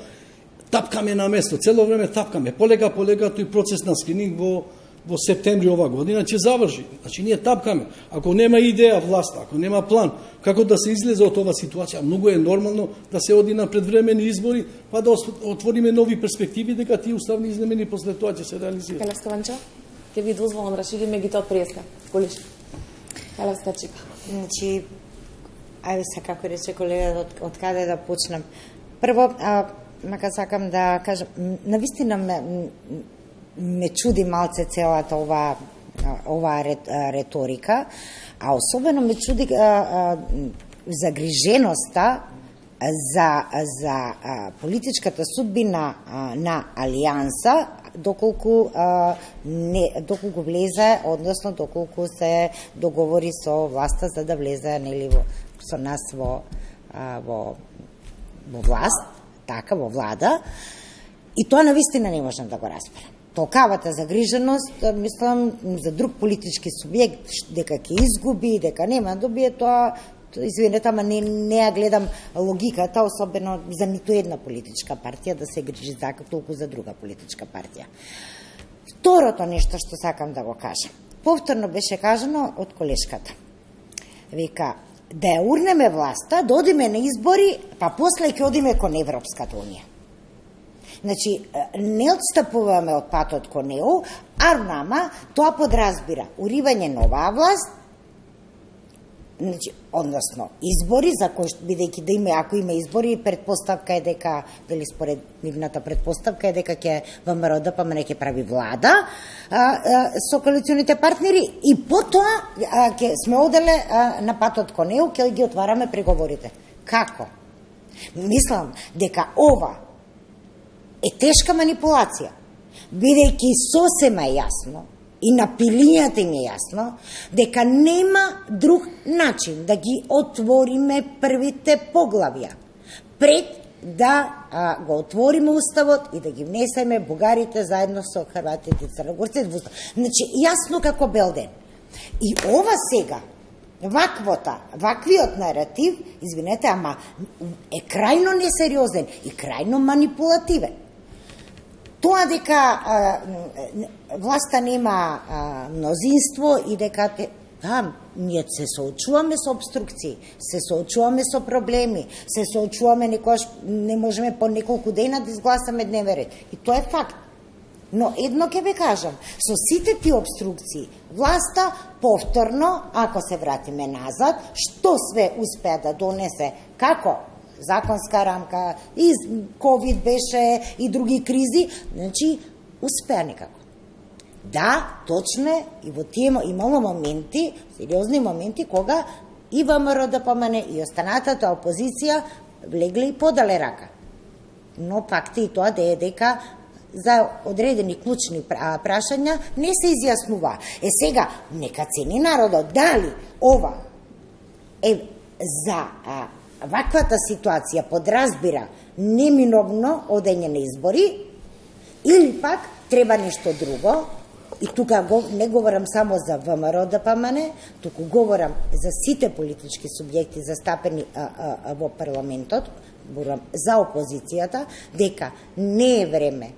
тапкаме на место, цело време тапкаме. Полека тој процес на скрининг во септември ова година ќе заврши. Значи ние тапкаме. Ако нема идеја власта, ако нема план како да се излезе од оваа ситуација, многу е нормално да се оди на предвремени избори, па да отвориме нови перспективи дека тие уставни измени после тоа ќе се реализираат. Келевска Ванча, ќе ви дозволам расшириме ги тоа од преска. Колиш. Келевска Чика. Значи, ајде се како рече колега, од каде да почнам. Прво, мака сакам да кажам, навистина ме чуди малце целата ова реторика, а особено ме чуди загриженоста за политичката судбина на Алијанса, доколку влезе, односно доколку се договори со власта за да влезе со нас во власт, така во влада, и тоа навистина не можам да го разберам. Толкавата загриженост, мислам, за друг политички субјект, дека ќе изгуби, дека нема добие тоа, извинете, ама не ја гледам логиката, особено за ниту една политичка партија да се грижи така толку за друга политичка партија. Второто нешто што сакам да го кажам, повторно беше кажано од колешката. Вика, да ја урнеме власта, да одиме на избори, па после ќе одиме кон Европската унија. Значи, не отстапуваме од патот кон ЕУ, а нама тоа подразбира уривање на оваа власт, значи, односно избори, за кои бидејќи да има, ако има избори, предпоставка е дека, дали според нивната предпоставка е дека ќе ВМРО ДПМН ќе прави влада со коалиционите партнери и потоа ќе сме оделе на патот кон ЕУ, ќе ги отвараме преговорите. Како? Мислам дека ова е тешка манипулација, бидејќи сосема јасно и на пилињата им е јасно дека нема друг начин да ги отвориме првите поглавја пред да го отвориме уставот и да ги внесеме бугарите заедно со хрватите и црногорците во устав. Значи, јасно како бел ден. И ова сега, ваквиот наратив, извинете, ама е крајно несериозен и крајно манипулативен. Тоа дека власта нема мнозинство и дека ние се соочуваме со обструкции, се соочуваме со проблеми, се соочуваме некојаш не можеме по неколку дена да изгласаме дневен ред. И тоа е факт. Но едно ќе ве кажам, со сите тие обструкции, власта повторно, ако се вратиме назад, што све успеа да донесе, како законска рамка, и ковид беше, и други кризи, значи, успеа некако. Да, точно е, и во тие имало моменти, сериозни моменти, кога и ВМРО ДПМН и останатата опозиција влегле и подале рака. Но пак и тоа дека за одредени клучни прашања не се изјаснува. Сега, нека цени народот, дали ова е за ваквата ситуација подразбира неминовно одење на избори, или пак треба нешто друго, и тука не говорам само за ВМРО ДПМН, туку говорам за сите политички субјекти застапени во парламентот, говорам за опозицијата, дека не е време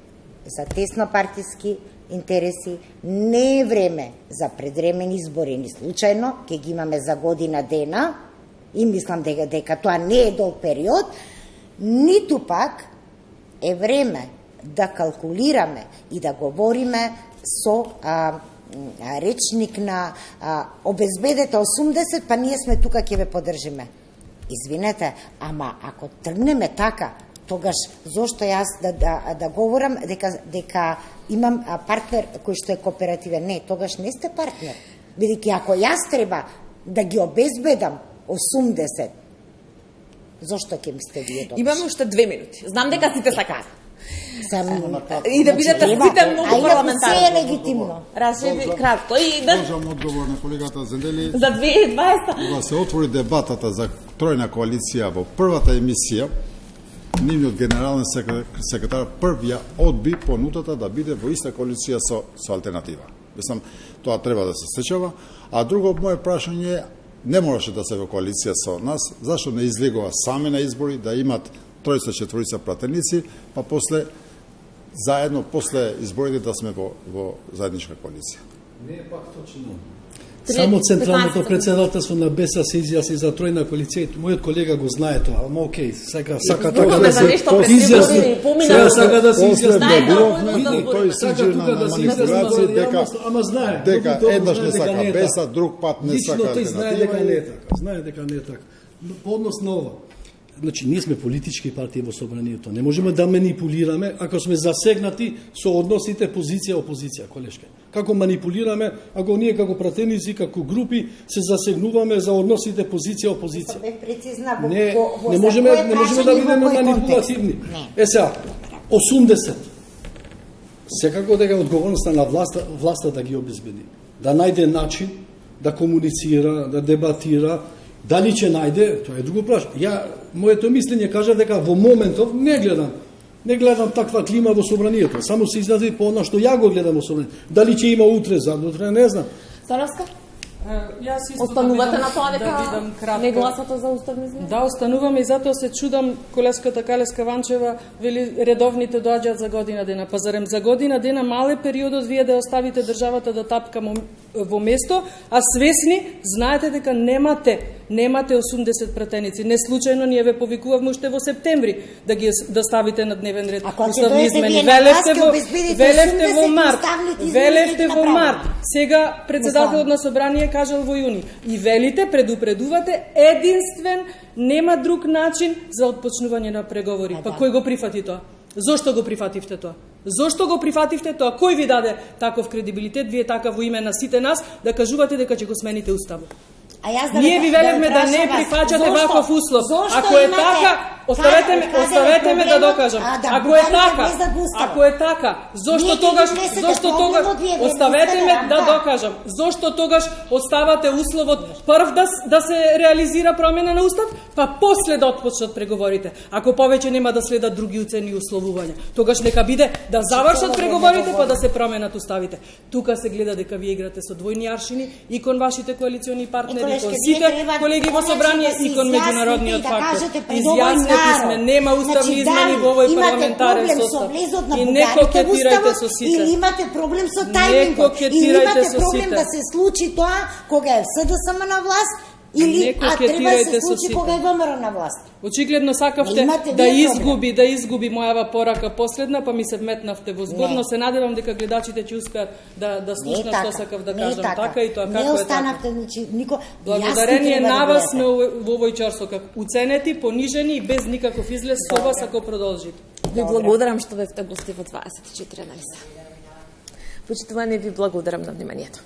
за теснопартиски интереси, не е време за предремени избори, ни случајно, ќе ги имаме за година дена, и мислам дека тоа не е долг период, ниту пак е време да калкулираме и да говориме со речник на обезбедете 80, па ние сме тука, ќе ве поддржиме. извинете, ама ако тргнеме така, тогаш зошто јас да говорам дека имам партнер кој што е кооперативен? Не, тогаш не сте партнер. Бидејќи ако јас треба да ги обезбедам 80, зошто ќе ми сте вие добри? Имаме уште 2 минути. Знам дека сите сакаат. И да бидете сите многу парламентарни. Се е легитимно. Рашиди кратко и да можам одговор на колегата Зендели. За 2020. Кога се отвори дебатата за тројна коалиција во првата емисија, нивниот генерален секретар прв ја одби понудата да биде во иста коалиција со алтернатива. Мислам, тоа треба да се сечува. А друго моје прашање, не мораше да се во коалиција со нас, зашто не излегува сами на избори, да имат тројца, четворица пратеници, па после заедно после изборите да сме во заедничка коалиција. Не е пак точно. Само Централното председателство на БЕСА се изјасни за тројна коалиција. Мојот колега го знае тоа, ама окей, сака така да се изјасни. Сака да се изјасни. Тој сиđe на манипулација дека еднаш не сака БЕСА, друг пат не сака алтернатива. Лично тој знае дека не е така. Знае дека не е така. По однос на ова, значи, ние сме политички партии во собранието. Не можеме да манипулираме ако сме засегнати со односите позиција-опозиција, колешка. Како манипулираме ако ние како пратеници, како групи се засегнуваме за односите позиција-опозиција. Не можеме да бидеме манипулативни. Сега, 80. Секако дека одговорноста на власта да ги обезбеди. Да најде начин да комуницира, да дебатира. Дали ќе најде, тоа е друго прашање. Моето мислење кажа дека во моментов не гледам таква клима во собранието. Само се изрази по она што ја го гледам во собранието. Дали ќе има утре, задутре, не знам. Саравска? Останувате на тоа дека не гласате за уставни измени? Да, остануваме и затоа се чудам колеската Калеска Ванчева вели редовните доаѓаат за година дена. Па зарем за година дена мал е периодот вие да оставите државата да тапка во место, а свесни знаете дека немате 80 пратеници. Не случајно ние ве повикувавме уште во септември да ставите на дневен ред уставни измени. Велевте во март. Сега председателот на собрание кажал во јуни. И велите, предупредувате, единствен, нема друг начин за отпочнување на преговори. Па кој го прифати тоа? Зошто го прифативте тоа? Зошто го прифативте тоа? Кој ви даде таков кредибилитет, вие така во име на сите нас, да кажувате дека ќе го смените уставот? Ние ви велевме да не прифаќате ваков услов. Ако е така, оставете ме да докажам. Ако е така, зошто тогаш оставете ме да докажам. Зошто тогаш оставате условот прв да се реализира промена на устав, па после да отпочнат преговорите. Ако повеќе нема да следат други уцени и условувања, тогаш нека биде да завршат преговорите па да се променат уставите. Тука се гледа дека вие играте со двојни аршини и кон вашите коалициони партнери, кон сите колеги во собрание и кон меѓународниот фактор. Изјаснети сме, нема уставни измени во овој парламентарен состав. И не кокетирајте со сите. Или имате проблем со тајмингот. Или имате проблем да се случи тоа кога е СДСМ на власт, или треба да се случи кога е ВМРО на власт. Очигледно сакавте да изгуби мојава порака последна, па ми се вметнавте во збор, но се надевам дека гледачите ќе успеат да слушнат што сакав да кажам. Така и тоа како е така. Благодарение на вас сме во овој часот уценети, понижени и без никаков излез со вас ако продолжите. Ви благодарам што бевте гости во 24 анализа. Почитувани, ви благодарам на вниманието.